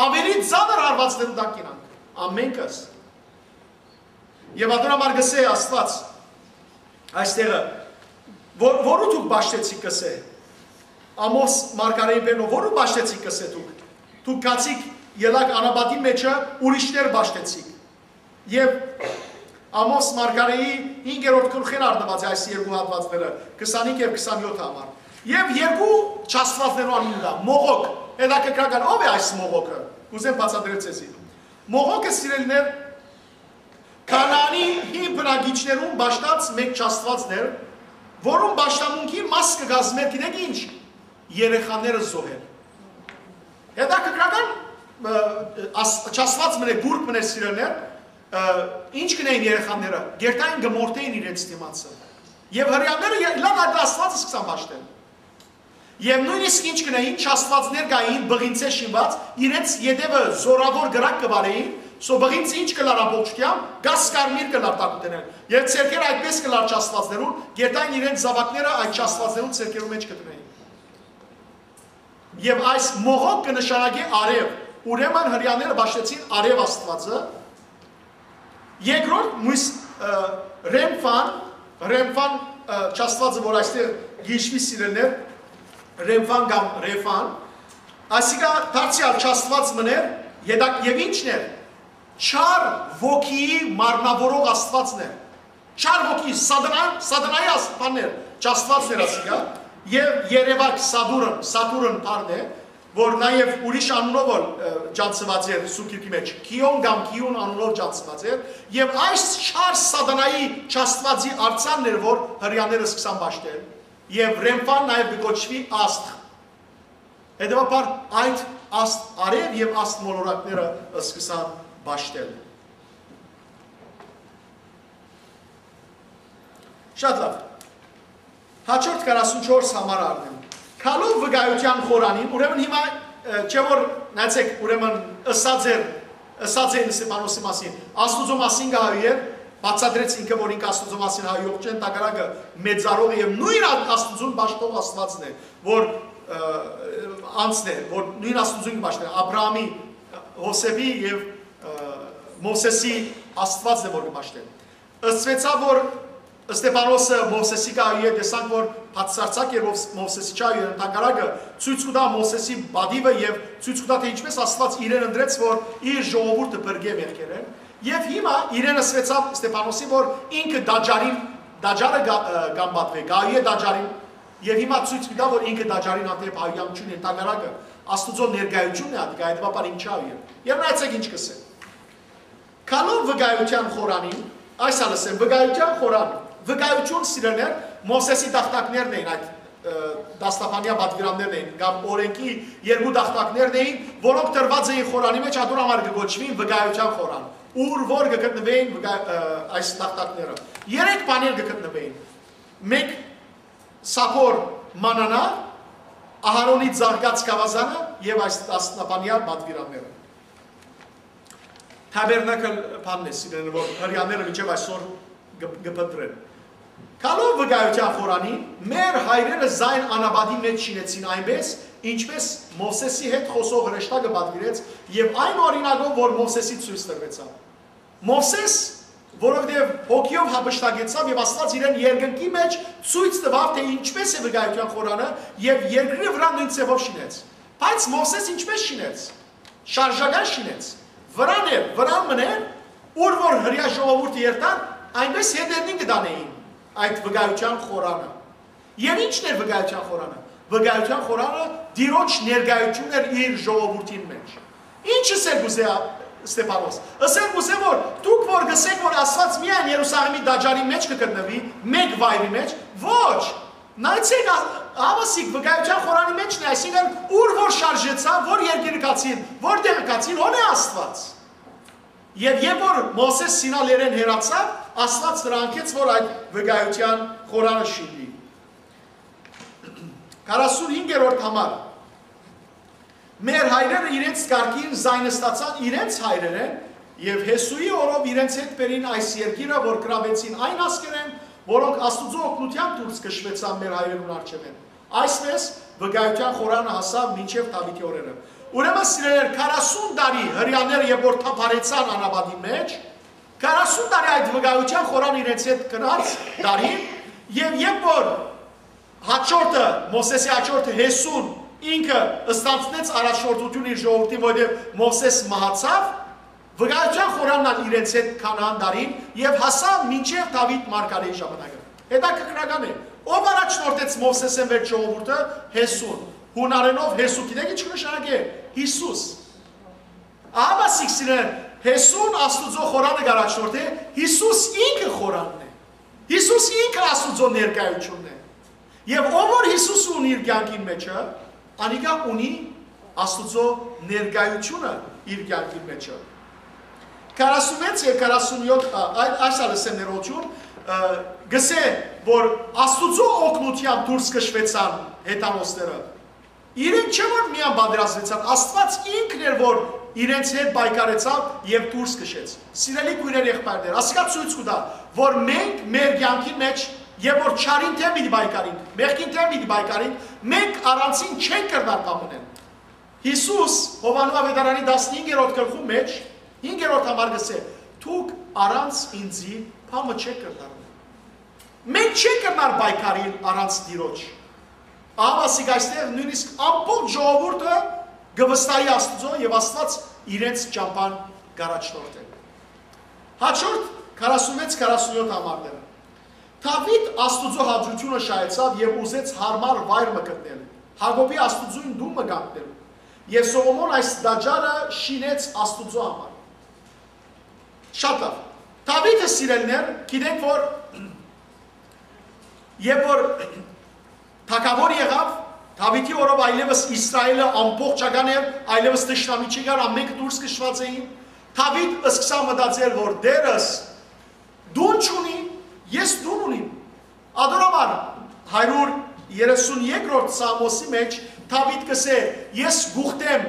Աւելի ծանր հարվածներու տակ կ'ընանք։ Ամէնքս։ Եւ ատոր համար կ'ըսէ Աստուած այստեղը, որ, որու դուք պաշտեցիք, կ'ըսէ Ամոս մարգարէին բերնով, որու պաշտեցիք, կ'ըսէ դուք, դուք գացիք, ելաք անապատին մէջը, ուրիշներ պաշտեցիք։ Եւ Ամոս մարգարէի հինգերորդ գլուխէն առնուած է այս երկու հատուածները, քսանհինգ եւ քսանյոթ համար։ Եւ երկու չաստուածներու անունը դա, Մողոք, հետաքրքրական, ո՞վ է այս Մողոքը, կ'ուզեմ բացատրել ձեզի։ Մողոքը, սիրելիներ, Քանանի հին բնակիչներուն պաշտած մէկ չաստուածն էր, որուն պաշտամունքի մաս կը կազմէր, գիտեք ինչ, երեխաները զոհել։ Հետաքրքրական, ը, աս-, չաստուած մնե, գուրգ մնե, սիրելիներ, ը, ինչ կ'ընէին երեխաները, կ'երթային, կը մորթէին իրենց դիմացը։ Եւ հրեաները ե-, լան այդ Աստուածը սկսան պաշտել։ Եւ նոյնիսկ ինչ կ'ընէին, չաստուածներ կային, բղինցէ շինուած, իրենց ետեւը զօրաւոր կրակ կը վարէին, սո բղինցը ինչ կ'ըլլար ամբողջութեամբ, կաս կարմիր կ'ըլլար տակուտենէն։ Եւ ձեռքերը այդպես կ'ըլլար չաստուածներուն, կ'երթային իրենց զաւակները այդ չաստուածներուն ձեռքերու մէջ կը դնէին։ Եւ այս Մողոք կը նշանակէ արեւ, ուրեմն հրեաները պաշտեցին արեւ Աստուածը, երկրորդ, մոյս, ը, Ռեմֆան, Ռեմֆան, ը, չաստուածը, որ այստեղ գիշվի, սիրելիներ, Ռեմֆան կամ Ռեֆան, ասիկա դարձեալ չաստուած մներ, ետակ-, եւ ինչն էր, չար ոգիի մարմնավորող աստուածն էր, չար ոգի, սատանա-, սատանայի աստուածներ, չաստուածներ ասիկա, եւ երեւակ Սատուրն, Սատուրն բառն է, որ նաեւ ուրիշ անունով ալ, ը, ճանչցուած էր Սուրբ Գիրքի մէջ, Գիոն կամ Գիուն անունով ճանչցուած էր, եւ այս չար սատանայի չաստուածի արձանն էր, որ հրեաները սկսան պաշտել, եւ Ռեմֆան նաեւ կը կոչուի աստղ։ Հետեւաբար այդ աստ արեւ եւ աստ մոլորակները սկսան պաշտել։ Շատ լավ։ Հաջորդ քառասունչորս համար առնեմ։ Գալով վկայութեան խորանին, ուրեմն հիմա, ը, չէ՞ որ, նայեցեք, ուրեմն ըսած էր, ըսած էին Ստեփանոսի մասին, Աստուծոյ մասին կը հայուի էր, բացատրեց ինքը, որ ինքը Աստուծոյ մասին հայոյող չէ, ընդհակառակը մեծարող եւ նոյն Ա-, Աստուծուն պաշտող Աստուածն է, որ, ը, անձն է, որ նոյն Աստուծուն կը պաշտէ, Աբրահամի, Յովսէփի եւ, ը, Մովսէսի Աստուածն է, որ կը պաշտէ։ Ըսուեցաւ, որ Ստեփանոսը Մովսէսի կը հայուի է, տեսանք, որ բացարձակ էր Մովս-, Մովսէսի չայ էր, ընդհակառակը ցոյց կու տայ Մովսէսի պատիւը եւ ցոյց կու տայ, թէ ինչպէս Աստուած իրեն ընտրեց, որ իր ժողովուրդը փրկէ մեղքերէն։ Եւ հիմա իրեն ըսուեցաւ Ստեփանոսի, որ ինքը տաճարին, տաճարը կա-, ը, կամբատուի, կայ է տաճարին, եւ հիմա ցոյց կու տայ, որ ինքը տաճարին հանդէպ հայհոյանք չունի, ընդհակառակը Աստուծոյ ներկայութիւնն է ատիկա, հետեւաբար ինք չայ էր։ Եւ նայեցեք ինչ կ'ըսէ։ Գալով վկայութեան խորանին, այս ալ ըսեմ, վկայութեան խորան, վկայութիւն, սիրելիներ, Մովսէսի տախտակներն էին, այդ, ը, դաստաբանեայ պատուիրաններն էին, կամ օրէնքի երկու տախտակներն էին, որոնք տրուած էին խորանի մէջ, ատոր համար կը կոչուին վկայութեան խորան, ուր որ կը գտնուէին վկայ-, ը, այս տախտակները։ Երեք բաներ կը գտնուէին։ Մէկ սափոր մանանայ, Ահարոնի ծաղկած գաւազանը եւ այս դաստաբանեայ պատուիրանները։ Թաբերնակլ բանն է, սիրելիներ, որ հրեաները մինչեւ այսօր կը, կը փնտռեն։ Գալով վկայութեան խորանի, մեր հայրերը զայն անապատի մէջ շինեցին այնպէս, ինչպէս Մովսէսի հետ խօսող հրեշտակը պատուիրեց, եւ այն օրինակով, որ Մովսէսի ցոյց տրուեցաւ։ Մովսէս, որովհետեւ հոգիով յափշտակեցաւ եւ Աստուած իրեն երկնքի մէջ ցոյց տուաւ, թէ ինչպէս է վկայութեան խորանը, եւ երկրի վրայ նոյն ձեւով շինեց։ Բայց Մովսէս ինչպէս շինեց։ Շարժական շինեց։ Վրան էր, վրան մըն էր, ուր որ հրեայ ժողովուրդը երթար, այնպէս հետերնին կը տանէին այդ վկայութեան խորանը։ Եւ ի՞նչն էր վկայութեան խորանը։ Վկայութեան խորանը Տիրոջ ներկայութիւնն էր իր ժողովուրդին մէջ։ Ի՞նչ ըսել կ'ուզէ Ստեփանոս։ Ըսել կ'ուզէ, որ դուք որ կ'ըսէք, որ Աստուած միայն Երուսաղէմի տաճարի մէջ կը գտնուի, մէկ վայրի մէջ, ոչ, նայեցէք, ա-, ահա սիկ վկայութեան խորանի մէջն է, այսինքն՝ ուր որ շարժեցաւ, որ երկիրը գացին, որ տեղը գացին, հոն է Աստուած։ Եւ երբ որ Մովսէս Սինա լեռէն հեռացաւ, Աստուած վրան կեց, որ այդ վկայութեան խորանը շինուի։ Քառասունհինգերորդ համար։ Մեր հայրերը իրենց կարգին զայն ստացան իրենց հայրերէն, եւ Յիսուի օրով իրենց հետ բերին այս երկիրը, որ գրաւեցին այն ազգերէն, որոնք Աստուծոյ օգնութեան դուրս քշուեցան մեր հայրերուն առջեւէն։ Այսպէս, վկայութեան խորանը հասաւ մինչեւ Դաւիթի օրերը։ Ուրեմն, սիրելիներ, քառասուն տարի հրեաները երբ որ թափառեցան անապատի մէջ, քառասուն տարի այդ վկայութեան խորան իրենց հետ գնաց դարին, եւ երբ որ հաջորդը, Մովսէսի հաջորդը Յիսուն ինքը ստանձնեց առաջնորդութիւն իր ժողովրդին, որովհետեւ Մովսէս մահացաւ, վկայութեան խորանն ալ իրենց հետ քանան դարին եւ հասան մինչեւ Դաւիթ մարգարեի ժամանակը։ Հետաքրքրական է, ով առաջնորդեց Մովսէսէն վեր ժողովուրդը, Յիսուն։ Յունարէնով Յիսու, գիտեք ի՞նչ կը նշանակէ։ Յիսուս։ Ահա սիկ, սիրելիներ, Յիսուն Աստուծոյ խորանը կ'առաջնորդէ, Յիսուս ինքը խորանն է։ Յիսուս ինքը Աստուծոյ ներկայութիւնն է։ Եւ ով որ Յիսուս ունի իր կեանքին մէջը, անիկա ունի Աստուծոյ ներկայութիւնը իր կեանքին մէջը։ Քառասունվեց եւ քառասունյոթ, ա, այ-, այս ալ ըսեմ ներողություն, ը, գսէ, որ Աստուծոյ օգնութեամբ դուրս քշուեցան հեթանոսները։ Իրենք չէ՞ որ միան պատերազմեցան, Աստուած ինքն էր, որ իրենց հետ պայքարեցաւ եւ դուրս քշեց։ Սիրելի քոյրեր, եղբայրներ, ասիկա ցոյց կու տայ, որ մենք մեր կեանքին մէջ, երբ որ չարին դէմ պիտի պայքարենք, մեղքին դէմ պիտի պայքարենք, մենք առանձին չենք կրնար բան մնալ։ Յիսուս Յովհաննէ Աւետարանի տասնհինգերորդ գլխու մէջ, հինգերորդ համար գսէ. «Դուք առանց ինձի բան մը չեք կրնար մնալ»։ Մենք չենք կրնար պայքարիլ առանց Տիրոջ։ Ահա սիկ այստեղ նոյնիսկ ամբողջ ժողովուրդը կը վստահի Աստուծոյ եւ Աստուած իրենց ճամբան կ'առաջնորդէ։ Հաջորդ քառասունվեց քառասունյոթ համարները։ Դաւիթ Աստուծոյ հաճութիւնը շահեցաւ եւ ուզեց յարմար վայր մը գտնել, Յակոբի Աստուծոյին տուն մը կանգնելու։ Եւ Սողոմոն այս տաճարը շինեց Աստուծոյ համար։ Շատ լաւ։ Դաւիթը, սիրելիներ, գիտենք, որ երբ որ թագաւոր եղաւ, Դաւիթի օրով այլեւս Իսրայէլը ամբողջական էր, այլեւս թշնամի չկար, ամէնքը դուրս քշուած էին։ Դաւիթ սկսաւ մտածել, որ Տէրս տուն չունի, ես տուն ունիմ։ Ատոր համար հարիւր երեսուն երկրորդ Սաղմոսի մէջ Դաւիթ կ'ըսէ. «Ես կ'ուխտեմ,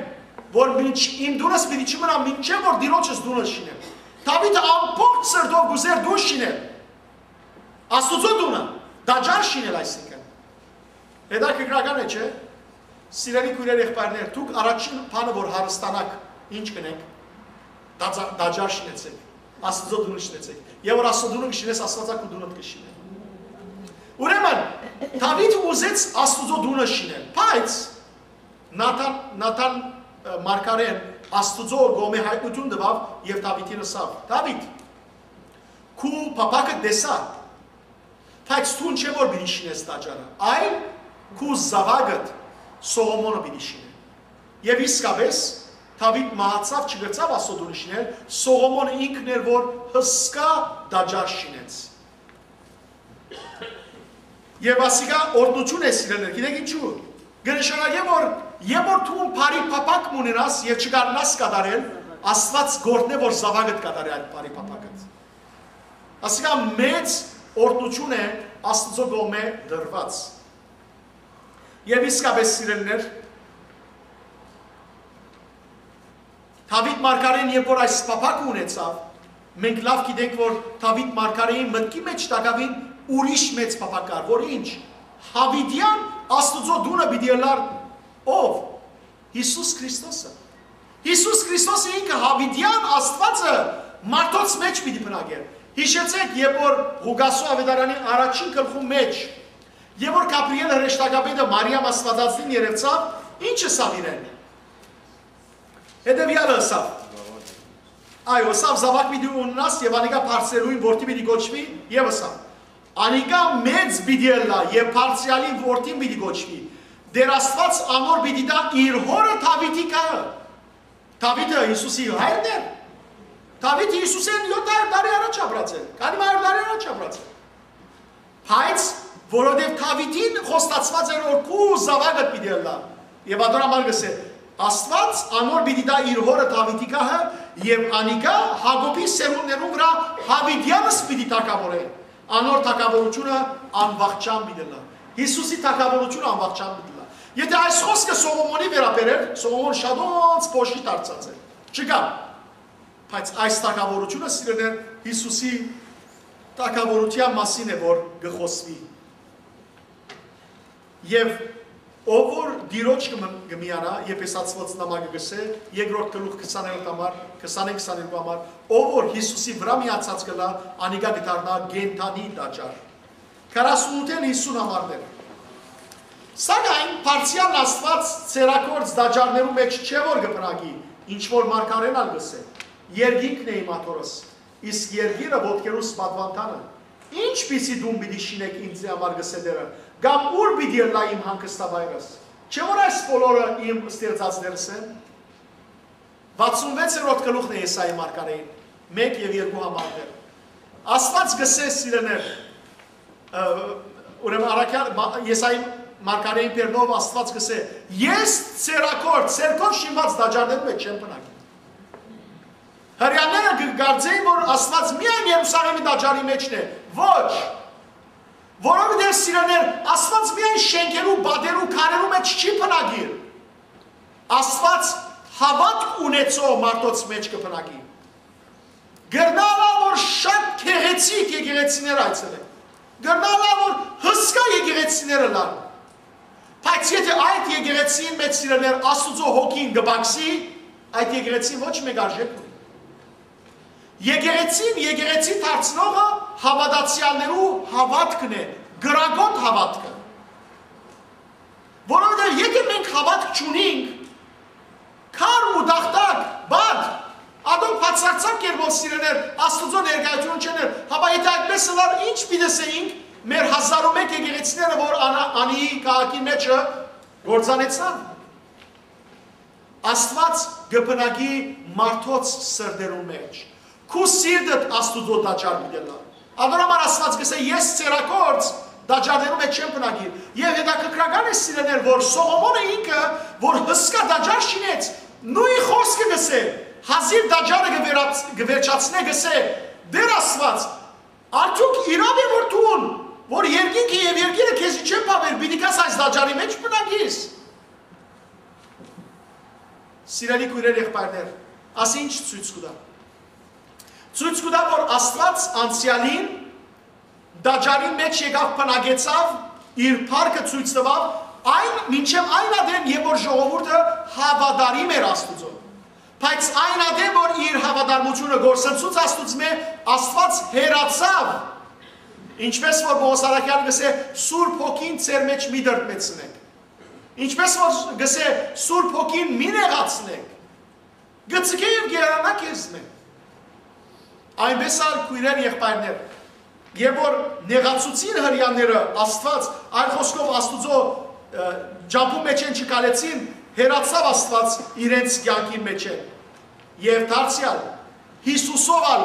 որ մինչ իմ տունս պիտի չմնայ, մինչեւ որ Տիրոջս տունը շինեմ»։ Դաւիթը ամբողջ սրտով կ'ուզէր տուն շինել։ Աստուծոյ տունը, տաճար շինել այսինքն։ Հետաքրքրական է, չէ՞։ Սիրելի քոյրեր, եղբայրներ, դուք առաջին բանը որ հարստանաք, ի՞նչ կ'ընէք։ Տաճա-, տաճար շինեցէք, Աստուծոյ տունը շինեցէք։ Եւ որ Աստուծոյ տունը կը շինես, Աստուածը քու տունդ կը շինէ։ Ուրեմն, Դաւիթ ուզեց Աստուծոյ տունը շինել, բայց Նաթան, Նաթան, ը, մարգարէն Աստուծոյ կողմէ յայտնութիւն տուաւ եւ Դաւիթին ըսաւ. «Դաւիթ, քու փափաքը տեսայ, բայց դուն չէ որ պիտի շինես տաճարը, այլ քու զաւակդ Սողոմոնը պիտի շինէ»։ Եւ իսկապէս, Դաւիթ մահացաւ, չկրցաւ Աստուծոյ տունը շինել, Սողոմոնը ինքն էր որ հսկայ տաճար շինեց։ Եւ ասիկա օրհնութիւն է, սիրելիներ, գիտեք ինչու։ Կը նշանակէ, որ երբ որ դու բարի փափաք մը ունենաս եւ չկարենաս կատարել, Աստուած կ'օրհնէ որ զաւակդ կատարէ այդ բարի փափակը։ Ասիկա մեծ օրհնութիւն է Աստուծոյ կողմէ տրուած։ Եւ իսկապէս, սիրելիներ, Դաւիթ մարգարէն երբ որ այս փափակը ունեցաւ, մենք լաւ գիտենք որ Դաւիթ մարգարէին մտքի մէջ տակաւին ուրիշ մեծ փափաք կար, որ ինչ, յաւիտեան Աստուծոյ տունը պիտի ըլլար ով։ Յիսուս Քրիստոսը։ Յիսուս Քրիստոսը ինքը յաւիտեան Աստուածը մարդոց մէջ պիտի բնակէր։ Յիշեցէք, երբ որ Ղուկասու աւետարանի առաջին գլխու մէջ, երբ որ Գաբրիէլ հրեշտակապետը Մարիամ Աստուածածնին երեւցաւ, ի՞նչ ըսաւ իրեն։ Հետեւեալը ըսաւ. «Այո, ըսաւ, զաւակ պիտի ունենաս եւ անիկա բարձրեալին որդի պիտի կոչուի», եւ ըսաւ. «Անիկա մեծ պիտի ըլլայ եւ բարձրեալին որդին պիտի կոչուի։ Տէր Աստուած անոր պիտի տայ իր հօրը Դաւիթի գահը»։ Դաւիթը Յիսուսի հայրն էր։ Դաւիթը Յիսուսէն յոթ հարիւր տարի առաջ ապրած էր, քանի մը հարիւր տարի առաջ ապրած էր։ Բայց որովհետեւ Դաւիթին խոստացուած էր որ քու զաւակդ պիտի ըլլայ։ Եւ ատոր համար կ'ըսէ. «Աստուած անոր պիտի տայ իր հօրը Դաւիթի գահը եւ անիկա Յակոբի սերունդներուն վրայ յաւիտեանս պիտի թագաւորէ։ Անոր թագաւորութիւնը անվախճան պիտի ըլլայ»։ Յիսուսի թագաւորութիւնը անվախճան պիտի ըլլայ։ Եթէ այս խօսքը Սողոմոնի վերաբերէր, Սողոմոն շատ ոնց փոշի դարձած էր։ Չկա։ Բայց այս թագաւորութիւնը, սիրելիներ, Յիսուսի թագաւորութեան մասին է որ կը խօսուի։ Եւ ով որ Տիրոջ կը մը-, կը միանայ, Եփեսացիներուն նամակը կ'ըսէ, երկրորդ գլուխ քսաներորդ համար, քսանին քսաներկու համար, ով որ Յիսուսի վրայ միացած կ'ըլլայ, անիկա կը դառնայ կենդանի տաճար։ Քառասունութ յիսուն համարներ։ Սակայն բարձրեալ Աստուած ծերագործ տաճարներու մէջ չէ որ կը բնակի, ինչ որ մարգարէն ալ կ'ըսէ. «Երկինքն է իմ աթոռս, իսկ երկիրը ոտքերուս պատուանդանը։ Ի՞նչպիսի տուն պիտի շինէք ինծի համար, կ'ըսէ Տէրը, կամ ո՞ւր պիտի ըլլայ իմ հանգստավայրս։ Չէ՞ որ այս բոլորը իմ ստեղծածներս են»։ Վաթսուն վեցերորդ գլուխն է Եսայի մարգարէին, մէկ եւ երկու համարներ։ Աստուած կ'ըսէ, սիրելիներ, ը, ուրեմն առաքյալ մա-, Եսայի մարգարէին բերնով Աստուած կ'ըսէ. «Ես ծերագործ, ձեռքով շինուած տաճարներու մէջ չեմ բնակի»։ Հրեաները կը կարծէին որ Աստուած միայն Երուսաղէմի տաճարի մէջն է։ Ոչ, որովհետեւ, սիրելիներ, Աստուած միայն շէնքերու, պատերու, քարերու մէջ չի բնակիր։ Աստուած հաւատք ունեցող մարդոց մէջ կը բնակի։ Կրնայ ըլլայ որ շատ գեղեցիկ եկեղեցիներ այցելեն, կրնայ ըլլայ որ հսկայ եկեղեցիներ ըլլան, բայց եթէ այդ եկեղեցին մէջ, սիրելիներ, Աստուծոյ հոգին կը պակսի, այդ եկեղեցին ոչ մէկ արժէք ունի։ Եկեղեցին եկեղեցի դարձնողը հաւատացեալներու հաւատքն է, կրակոտ հաւատքը։ Որովհետեւ եթէ մենք հաւատք չունինք, քար ու տախտակ, բադ, ատոր բացարձակ կերպով, սիրելիներ, Աստուծոյ ներկայութիւնը չեն, հապա եթէ այդպես ըլլար, ի՞նչ պիտի ըսէինք մեր հազար ու մէկ եկեղեցիները որ Անա-, Անիի քաղաքի մէջը կործանեցան։ Աստուած կը բնակի մարդոց սրտերուն մէջ։ Քու սիրտդ Աստուծոյ տաճար պիտի ըլլայ։ Անոր համար Աստուած կ'ըսէ. «Ես ձեռագործ տաճարներու մէջ չեմ բնակիր»։ Եւ հետաքրքրական է, սիրելիներ, որ Սողոմոնը ինքը, որ հսկայ տաճար շինեց, նոյն խօսքը կ'ըսէ, հազիւ տաճարը կը վերաց-, կը վերջացնէ, կ'ըսէ. «Տէր Աստուած, արդյոք իրաւ է որ դուն, որ երկինքը եւ երկիրը քեզի չեն բաւեր, պիտի գաս այս տաճարի մէջ բնակիս»։ Սիրելի քոյրեր, եղբայրներ, ասի ինչ ցոյց կու տայ։ Ցոյց կու տայ, որ Աստուած անցեալին տաճարին մէջ եկաւ, բնակեցաւ, իր փառքը ցոյց տուաւ, այն, մինչեւ այն ատեն, երբ որ ժողովուրդը հաւատարիմ էր Աստուծոյ։ Բայց այն ատեն, որ իր հաւատարմութիւնը կորսնցուց Աստուծմէ, Աստուած հեռացաւ, ինչպես որ Պողոս առաքեալը կ'ըսէ. «Սուրբ Հոգին ձեր մէջ մի դրդմեցնէք»։ Ինչպես որ կ'ըսէ. «Սուրբ Հոգին մի նեղացնէք, կը ձգէ եւ կ'երանայ քեզմէ»։ Այնպէս ալ, քոյրեր, եղբայրներ, երբ որ նեղացուցին Հրեաները Աստուած, այլ խօսքով, Աստուծոյ, ը, ճամբուն մէջէն չքալեցին, հեռացաւ Աստուած իրենց կեանքին մէջէն։ Եւ դարձեալ, Յիսուսով ալ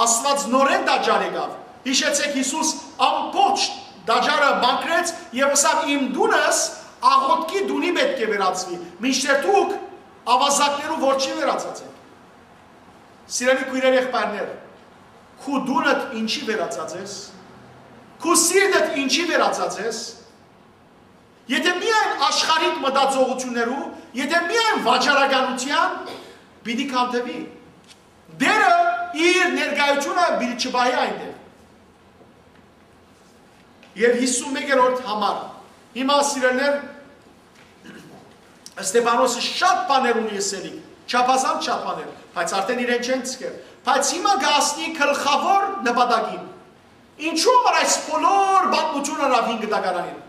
Աստուած նորէն տաճար եկաւ։ Յիշեցէք, Յիսուս ամբողջ տաճարը մաքրեց եւ ըսաւ. «Իմ տունս աղօթքի տունի պէտք է վերածուի, մինչդեռ դուք աւազակներու որջի վերածած եք»։ Սիրելի քոյրեր, եղբայրներ, քու տունդ ինչի վերածած ես, քու սիրտդ ինչի վերածած ես, եթե միայն աշխարհիկ մտածողութիւններու, եթե միայն վաճառականութեան, պիտի քանդուի։ Տէրը իր ներկայութիւնը պիտի չպահի այնտեղ։ Եւ հիսուն մեկերորդ համար։ Հիմա, սիրելիներ, Ստեփանոսը շատ բաներ ունի ըսելիք, չափազանց շատ բաներ, բայց արդեն իրեն չեն ցկեր։ Բայց հիմա կ'հասնի գլխաւոր նպատակին։ Ինչու՞ որ այս բոլոր պատմութիւնը հին կտակարանին։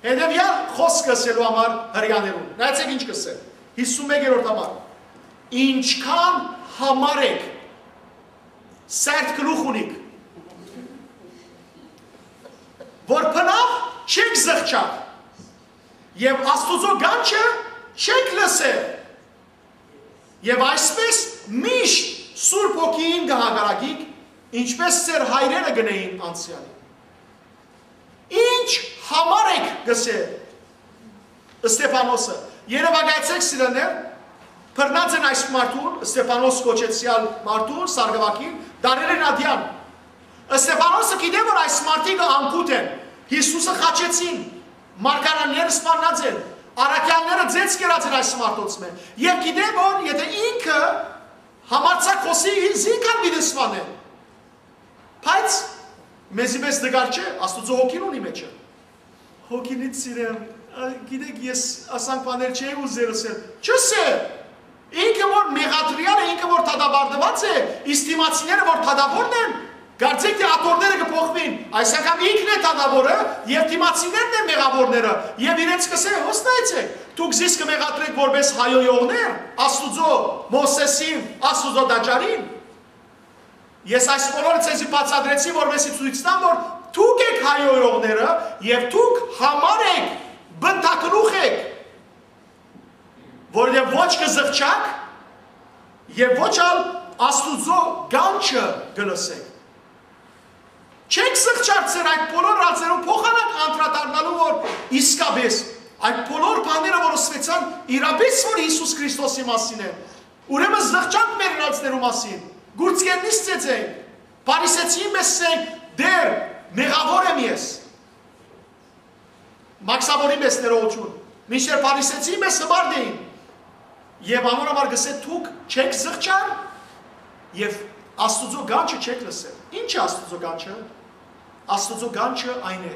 Հետեւեալ խօսքը ըսելու համար Հրեաներուն։ Նայեցէք ինչ կ'ըսէ։ Հիսուն մեկերորդ համար։ Ինչքան համար եք, սերտ գլուխ ունիք, որ բնաւ չեք զղջար եւ Աստուծոյ կանչը չեք լսեր, եւ այսպէս միշտ Սուրբ Հոգիին կը հակառակիք, ինչպէս ձեր հայրերը կ'ընէին անցեալին։ Ինչ համար եք, կ'ըսէ Ստեփանոսը։ Երեւակայեցէք, սիրելիներ, բռնած են այս մարդուն, Ստեփանոս կոչեցեալ մարդուն, սարկուակին, դարերէն ատեան։ Ստեփանոսը գիտէ, որ այս մարդիկը անգութ են, Յիսուսը խաչեցին, մարգարանները սպաննած են, առաքեալները ձեզ կերած են այս մարդոց մէ։ Եւ գիտէ, որ եթե ինքը համարձակ խօսի, զինք ալ պիտի սպանեն։ Բայց մեզի մեզ նկար չէ, Աստուծոյ Հոգին ունի մեջը։ Հոգին, ինձ սիրեմ, ա, գիտեք, ես ասանք բաներ չէի ուզեր ըսել։ Չ'ըսել։ Ինքը որ մեղադրյալ է, ինքը որ դատապարտուած է, իսկ դիմացիները որ դատավորն են, կարծեք թէ աթոռները կը փոխուին, այս անգամ ինքն է դատավորը, եւ դիմացիներն են մեղավորները, եւ իրենց կ'ըսէ. «Յուսնայեցէք, դուք զիս կը մեղադրէք որպես հայոյողներ Աստուծոյ, Մովսէսին, Աստուծոյ տաճարին»։ Ես այս բոլորը ձեզի բացատրեցի, որպեսզի ցոյց տամ, որ դուք եք հայոյողները եւ դուք համար եք, բնտագլուխ եք, որ եւ ոչ կը զղջաք եւ ոչ ալ Աստուծոյ կանչը կը լսեք։ Չեք զղջար ձեր այդ բոլոր ռազերուն փոխանակ անդրադառնալու, որ իսկապէս այդ բոլոր բաները, որ ըսուեցան, իրապէս որ Յիսուս Քրիստոսի մասին է, ուրեմն զղջանք մեր իրացներու մասին, գուրցքերնից ծեծենք, փարիսեցին մեզ, ասենք. «Տէր, մեղաւոր եմ ես»։ Մաքսաբորի մեծ ներողություն, մինչդեռ փարիսեցին մեզ հպարտ էին։ Եւ անոր համար կ'ըսէ. «Դուք չեք զղջար եւ Աստուծոյ կանչը չեք լսեր»։ Ի՞նչ է Աստուծոյ կանչը։ Աստուծոյ կանչը այն է,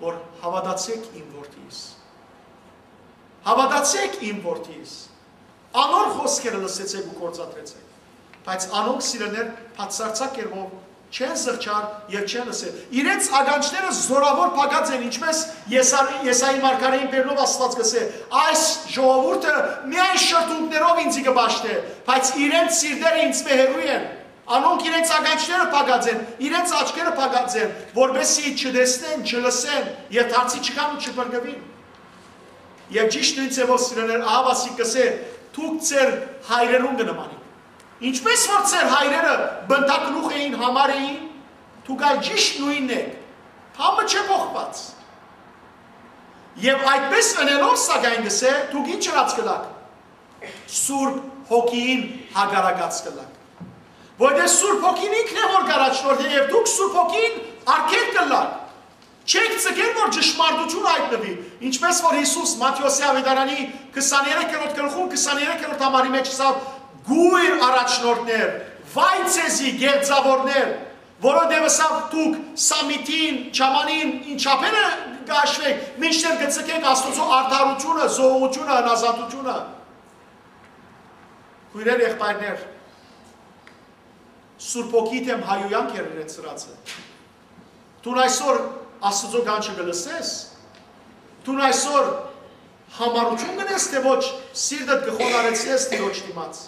որ հաւատացէք իմ որդիս։ Հաւատացէք իմ որդիս։ Անոր խօսքերը լսեցէք ու գործադրեցէք։ Բայց անոնք, սիրելիներ, բացարձակ կերպով չեն զղջար եւ չեն լսեր։ Իրենց ականջները զօրաւոր փակած են, ինչպես Եսա-, Եսայի մարգարէին բերնով Աստուած կ'ըսէ. «Այս ժողովուրդը միայն շրթունքներով ինծի կը պաշտէ, բայց իրենց սիրտերը ինծմէ հեռու են»։ Անոնք իրենց ականջները փակած են, իրենց աչքերը փակած են, որպեսզի չտեսնեն, չլսեն եւ դարձի չգան ու չփրկուին։ Եւ ճիշդ նոյն ձեւով, սիրելիներ, ահա ասիկա կ'ըսէ. դուք ձեր հայրերուն կը նմանիք։ Ինչպէս որ ձեր հայրերը բնտագլուխ էին, համար էին, դուք ալ ճիշդ նոյնն էք, համը չէ փոխուած։ Եւ այդպէս ընելով, սակայն, կ'ըսէ, դուք ինչ ըրած կ'ըլաք, Սուրբ Հոգիին հակառակած կ'ըլաք։ Որտեղ Սուրբ Հոգին ինքն է, որ կ'առաջնորդէ, եւ դուք Սուրբ Հոգին արգելք կ'ըլաք։ Չէք ձգեր, որ ճշմարտությունը հայտնուի, ինչպէս որ Յիսուս Մատթէոսի աւետարանի քսաներեքերորդ գլխուն, քսաներեքերորդ համարի մէջ ըսաւ. «Կույր առաջնորդներ, վայ ձեզի, գեղձաւորներ, որովհետեւ ըսաւ դուք սամիթին, չամանին, ինչապէն է կ'աշուեք, մինչդեռ կը ձգեք Աստուծոյ արդարութիւնը, զոհողութիւնը, հնազանդութիւնը»։ Քոյրեր, եղբայրներ, Սուրբ Հոգի դէմ հայոյանք էր իրենց սրածը։ Դուն այսօր Աստուծոյ կանչը կը լսես, դուն այսօր համառութիւն կ'ընես, թէ ոչ, սիրտդ կը խոնարհեցնես Տիրոջ դիմաց։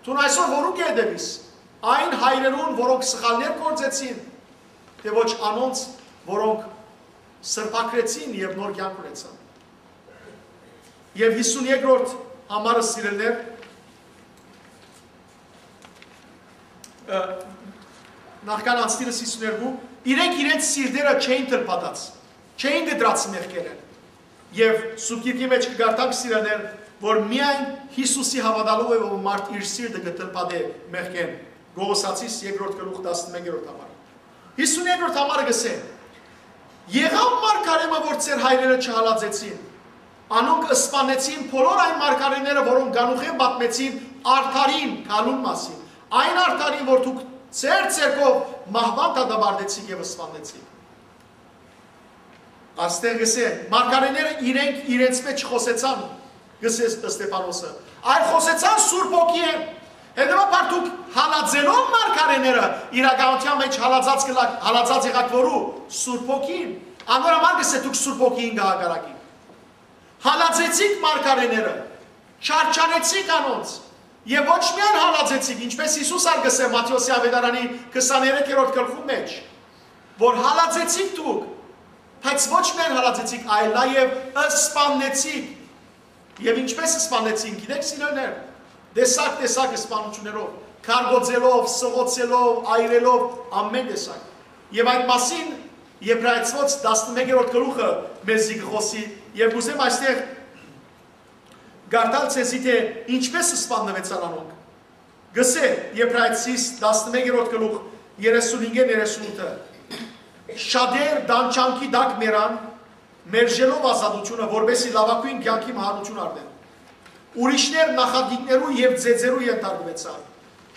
Դուն այսօր որու կը հետեւիս, այն հայրերուն, որոնք սխալներ գործեցին, թէ ոչ, անոնց, որոնք սրբագրեցին եւ նոր կեանք ունեցան։ Եւ հիսուն երկրորդ համարը, սիրելիներ, ը, նախքան անցնիլս հիսուն երկու, իրենք իրենց սիրտերը չէին թլփատած, չէին կտրած մեղքերէն։ Եւ Սուրբ Գիրքի մէջ կը կարդանք, սիրելիներ, որ միայն Յիսուսի հաւատալով է, որ մարդ իր սիրտը կը թլփատէ մեղքէն։ Կողոսացիս երկրորդ գլուխ, տասնմեկերորդ համար։ Հիսուն երկրորդ համարը կ'ըսէ. «Եղաւ մարգարէ մը, որ ձեր հայրերը չհալածեցին։ Անոնք սպանեցին բոլոր այն մարգարէները, որոնք գանուխէն պատմեցին արդարին գալուն մասին, այն արդարին, որ դուք ձեր ձեռքով մահուան դատապարտեցիք եւ սպանեցիք»։ Աստեղ կ'ըսէ, մարգարէները իրենք իրենց մէջ չխօսեցան, կ'ըսէ Ստեփանոսը, այլ խօսեցան Սուրբ Հոգիէն։ Հետեւաբար դուք հալածելով մարգարէները, իրականութեան մէջ հալածած կ'ըլաք, հալածած եղաք որու, Սուրբ Հոգին։ Անոր համար կ'ըսէ, դուք Սուրբ Հոգիին կը հակառակիք։ Հալածեցիք մարգարէները, չարչարեցիք անոնց, եւ ոչ միայն հալածեցիք, ինչպէս Յիսուս ալ կ'ըսէ Մատթէոսի աւետարանի քսաներեքերորդ գլխու մէջ, որ հալածեցիք դուք, բայց ոչ միայն հալածեցիք, այլ նաեւ սպաննեցիք։ Եւ ինչպէս սպանեցին, գիտեք, սիրելիներ, տեսակ-տեսակ սպանութիւններով, քարկոծելով, սղոցելով, այրելով, ամէն տեսակ։ Եւ այդ մասին Եբրայեցիներու տասնմեկերորդ գլուխը մեզի կը խօսի, եւ կ'ուզեմ այստեղ կարդալ ձեզի, թէ ինչպէս սպաննուեցան անոնք։ Կ'ըսէ Եբրայեցիներու տասնմեկերորդ գլուխ, երեսունհինգ երեսունութը. «Շատեր տանջանքի տակ մեռան, մերժելով ազատութիւնը, որպէս զի լաւագոյն կեանքի մահանութիւն առնեն։ Ուրիշներ նախատինքներու եւ ծեծերու ենթարկուեցան,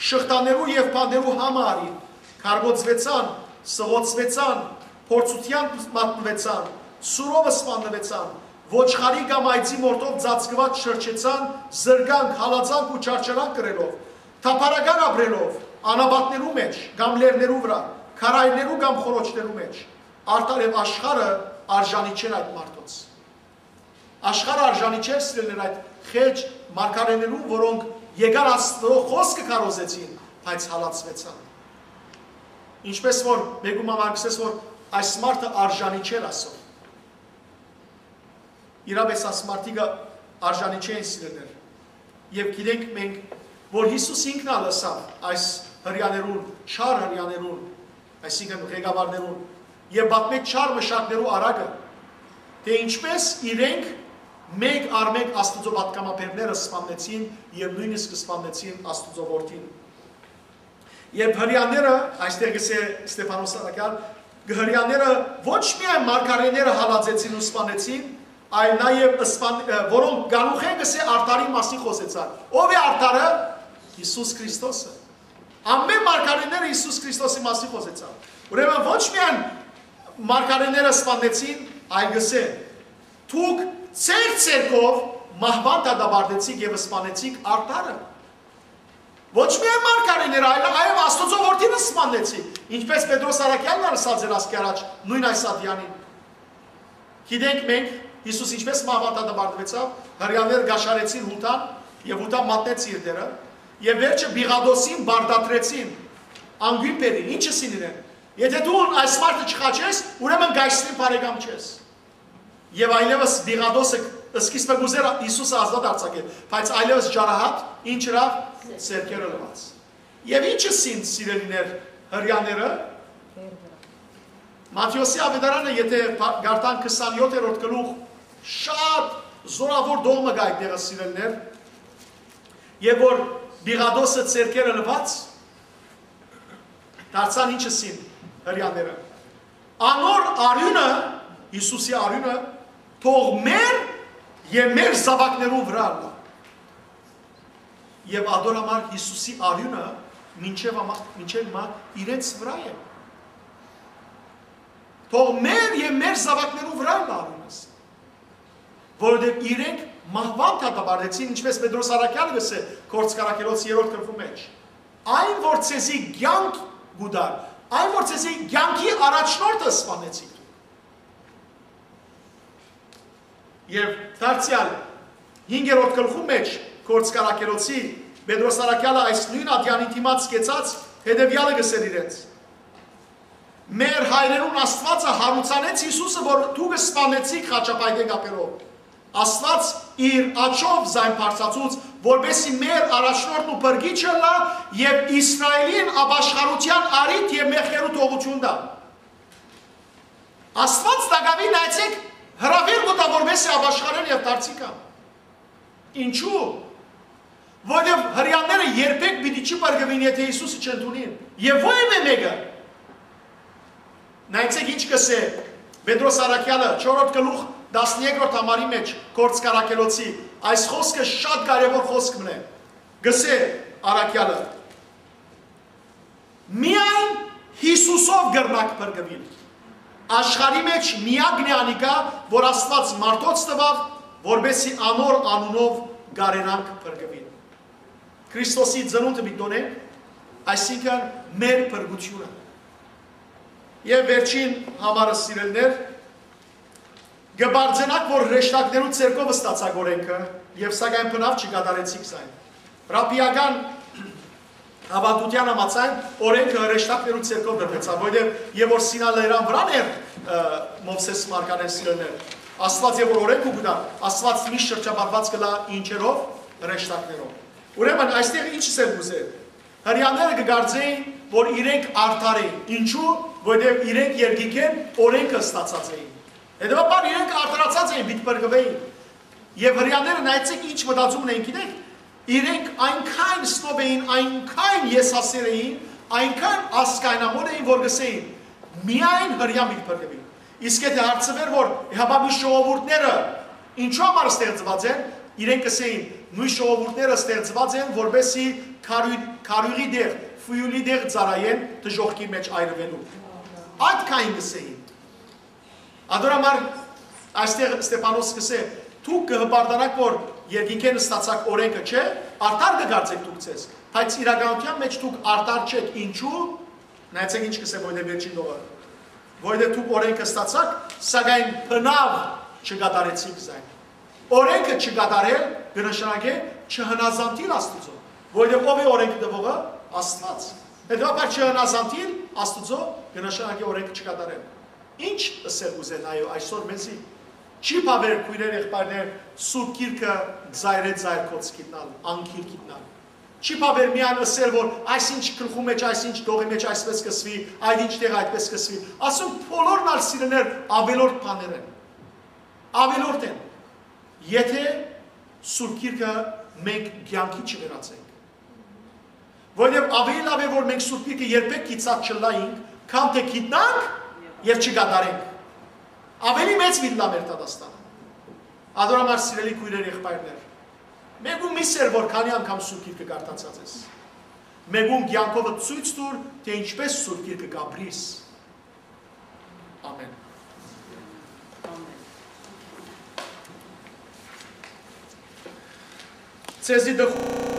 շղթաներու եւ բանտերու համը առին, քարկոծուեցան, սղոցուեցան, փորձութեան մատնուեցան, սուրով սպաննուեցան, ոչխարի կամ այծի մորթով ծածկուած շրջեցան, զրկանք, հալածանք ու չարչարանք կրելով, թափառական ապրելով, անապատներու մէջ կամ լեռներու վրայ, քարայրներու կամ խորոչներու մէջ։ Արդարեւ աշխարհը արժանի չէր այդ մարդոց»։ Աշխարհը արժանի չէր, սիրելիներ, այդ խեճ մարգարէներուն, որոնք եկան Աստուծոյ խօսքը քարոզեցին, բայց հալածուեցան։ Ինչպէս որ մէկու մը կ'ըսես, որ այս մարդը արժանի չէր ասոր։ Իրապէս այս մարդիկը արժանի չեն, սիրելիներ։ Եւ գիտենք մենք, որ Յիսուս ինքն ալ ըսաւ այս հրեաներուն, չար հրեաներուն, այսինքն ղեկավարներուն, եւ պատմեց չար մշակներու արագը, թէ ինչպէս իրենք մէկ առ մէկ Աստուծոյ պատգամաբերները սպաննեցին եւ նոյնիսկ սպաննեցին Աստուծոյ որդին։ Երբ հրեաները, այստեղ կ'ըսէ Ստեփանոս Սարակեան, հրեաները ոչ միայն մարգարէները հալածեցին ու սպանեցին, այլ նաեւ սպան-, ը, որոնք գանուխէն, կ'ըսէ, արդարին մասին խօսեցան։ Ո՞վ է արդարը։ Յիսուս Քրիստոսը։ Ամէն մարգարէները Յիսուս Քրիստոսի մասին խօսեցան։ Ուրեմն ոչ միայն մարգարէները սպանեցին, այլ, կ'ըսէ, դուք ձեր ձեռքով մահուան դատապարտեցիք եւ սպանեցիք արդարը։ Ոչ միայն մարգարէները, այլ, այլ Աստուծոյ որդին սպանեցի, ինչպես Պետրոս Առաքյալն ալ ըսած էր ասկի առաջ, նոյն այս ատեանին։ Գիտենք մենք, Յիսուս ինչպես մահվան դատապարտուեցաւ, հրեաները կաշառեցին Յուդան, եւ Յուդա մատնեց իր դերը, եւ վերջը Պիղատոսին բարդատրեցին, անգույն բերին, ինչս ինին են։ Եթե դու այս մարդը չխաչես, ուրեմն կայսրին բարեկամ չես։ Եւ այլեւս Պիղատոսը Սկիզբը կ'ուզէր Յիսուսը ազատ արձակել, բայց այլեւս ճարահատ ինչ ըրաւ, ձեռքերը լուաց։ Եւ ի՞նչ ըսին, սիրելիներ, հրեաները։ Մատթէոսի աւետարանը, եթէ փա-, կարդանք քսանեօթերորդ գլուխ, շատ զորաւոր դող մը կայ այդտեղը, սիրելիներ, եւ որ Պիղատոսը ձեռքերը լուաց, դարձան ինչ ըսին հրեաները։ Անոր արիւնը, Յիսուսի արիւնը, թող մեր եւ մեր զաւակներուն վրայ ըլլայ։ Եւ ատոր համար Յիսուսի արիւնը մինչեւ, մինչեւ հիմա իրենց վրայ է։ Թող մեր եւ մեր զաւակներուն վրայ ըլլայ արիւնս, որովհետեւ իրենք մահուան դատապարտեցին, ինչպէս Պետրոս Առաքեալը կ'ըսէ Գործք առաքելոց երրորդ գլխու մէջ, այն որ ձեզի կեանք կու տար, այն որ ձեզի կեանքի առաջնորդը սպանեցիք դուք։ Եւ դարձեալ հինգերորդ գլխու մէջ Գործք առաքելոցի Պետրոս Առաքեալը այս նոյն ատեանին դիմաց կեցած հետեւեալը կ'ըսէր իրենց. «Մեր հայրերուն Աստուածը յարուցանեց Յիսուսը, որ դուք սպանեցիք խաչապայտէ կապելով։ Աստուած իր աջով զայն բարձրացուց, որպեսզի մեր առաջնորդն ու փրկիչը ըլլայ եւ Իսրայէլին ապաշխարութեան առիթ եւ մեղքերու թողութիւն տայ»։ Աստուած տակաւին, նայեցէք, հրաւեր կու տայ, որպեսզի ապաշխարեն եւ դարձի գան։ Ինչու՞։ Որովհետեւ հրեաները երբեք պիտի չի փրկուին, եթէ Յիսուսը չընդունին։ Եւ որեւէ մէկը, նայեցէք ինչ կ'ըսէ Պետրոս Առաքեալը, չորրորդ գլուխ, տասներկրորդ համարի մէջ, Գործք առաքելոցի, այս խօսքը շատ կարեւոր խօսք մըն է, կ'ըսէ Առաքեալը. «Միայն Յիսուսով կրնաք փրկուիլ։ Աշխարհի մէջ միակն է անիկա, որ Աստուած մարդոց տուաւ, որպեսզի անոր անունով կարենանք փրկուիլ»։ Քրիստոսի ծնունդը պիտի տոնենք, այսինքն մեր փրկութիւնը։ Եւ վերջին համարը, սիրելիներ, կը պարծենաք, որ հրեշտակներու ձեռքով ստացաք օրէնքը, եւ սակայն բնաւ չկատարեցիք զայն։ Ռաբբիական հաւատութեան համաձայն օրէնքը հրեշտակներու ձեռքով տրուեցաւ, որովհետեւ եւ որ Սինա լերան վրան էր, ը, Մովսէս մարգարէն, սիրելիներ, Աստուած եւ որ օրէնքը կու տայ, Աստուած միշտ շրջապատուած կ'ըլլայ ինչերով, հրեշտակներով։ Ուրեմն այստեղ ինչ ըսել կ'ուզէ։ Հրեաները կը կարծէին, որ իրենք արդար էին։ Ինչու՞, որովհետեւ իրենք երկնքէն օրէնքը ստացած էին։ Հետեւաբար իրենք արդարացած էին, պիտի փրկուէին։ Եւ հրեաները, նայեցեք, ինչ մտածում ունեն, գիտեք, իրենք այնքան սնոբ էին, այնքան եսասեր էին, այնքան ազգայնամոլ էին, որ կ'ըսէին. «Միայն հրեան պիտի փրկուի»։ Իսկ եթե հարցուէր, որ հապա մյուս ժողովուրդները ինչու համար ստեղծուած են, իրենք կ'ըսէին. «Նոյն ժողովուրդները ստեղծուած են, որպեսզի քարոյ-, քարոյղի տեղ, ֆիուլի տեղ ծառայեն դժոխքի մէջ այրուելու»։ Այդ քային կ'ըսէին։ Ատոր համար այստեղ Ստեփանոս կ'ըսէ. «Դուք կը հպարտանաք, որ երկնքէն ստացաք օրէնքը, չէ՞, արդար կը կարծէք դուք ձեզ, բայց իրականութեան մէջ դուք արդար չէք։ Ինչու՞»։ Նայեցեք ինչ կ'ըսէ, որովհետեւ վերջին տողը. «Որովհետեւ դուք օրէնքը ստացաք, սակայն բնաւ չկատարեցիք զայն»։ Օրէնքը չկատարել կը նշանակէ չհնազանդիլ Աստուծոյ, որովհետեւ ո՞վ է օրէնքը տուողը, Աստուած։ Հետեւաբար չհնազանդիլ Աստուծոյ կը նշանակէ օրէնքը չկատարել։ Ինչ ըսել կ'ուզեն, այո, այսօր մեզի։ Չի բաւեր, քոյրեր, եղբայրներ, Սուրբ Գիրքը ծայրէ ծայր գոց գիտնալ, անգիր գիտնալ։ Չի բաւեր միայն ըսել, որ այսինչ գլխու մէջ, այսինչ տողի մէջ այսպես կ'ըսուի, այդ ինչ տեղ այդպես կ'ըսուի։ Ասում, բոլորն ալ, սիրելիներ, ավելորդ բաներ են։ Ավելորդ են։ Եթէ Սուրբ Գիրքը մենք կեանքի չվերածենք։ Որովհետեւ ավելի լաւ է, որ մենք Սուրբ Գիրքը երբեք գիտած չըլլայինք, քան թէ գիտնանք եւ չկատարենք։ Ավելի մեծ պիտի լա մեր դատաստանը։ Ատոր համար, սիրելի քոյրեր, եղբայրներ, մեկուն մի սեր, որ քանի՞ անգամ Սուրբ Գիրքը կարդացած ես։ Մեկուն կեանքովդ ցոյց տուր, թէ ինչպես Սուրբ Գիրքը կ'ապրիս։ Ամեն։ Ձեզի տխ-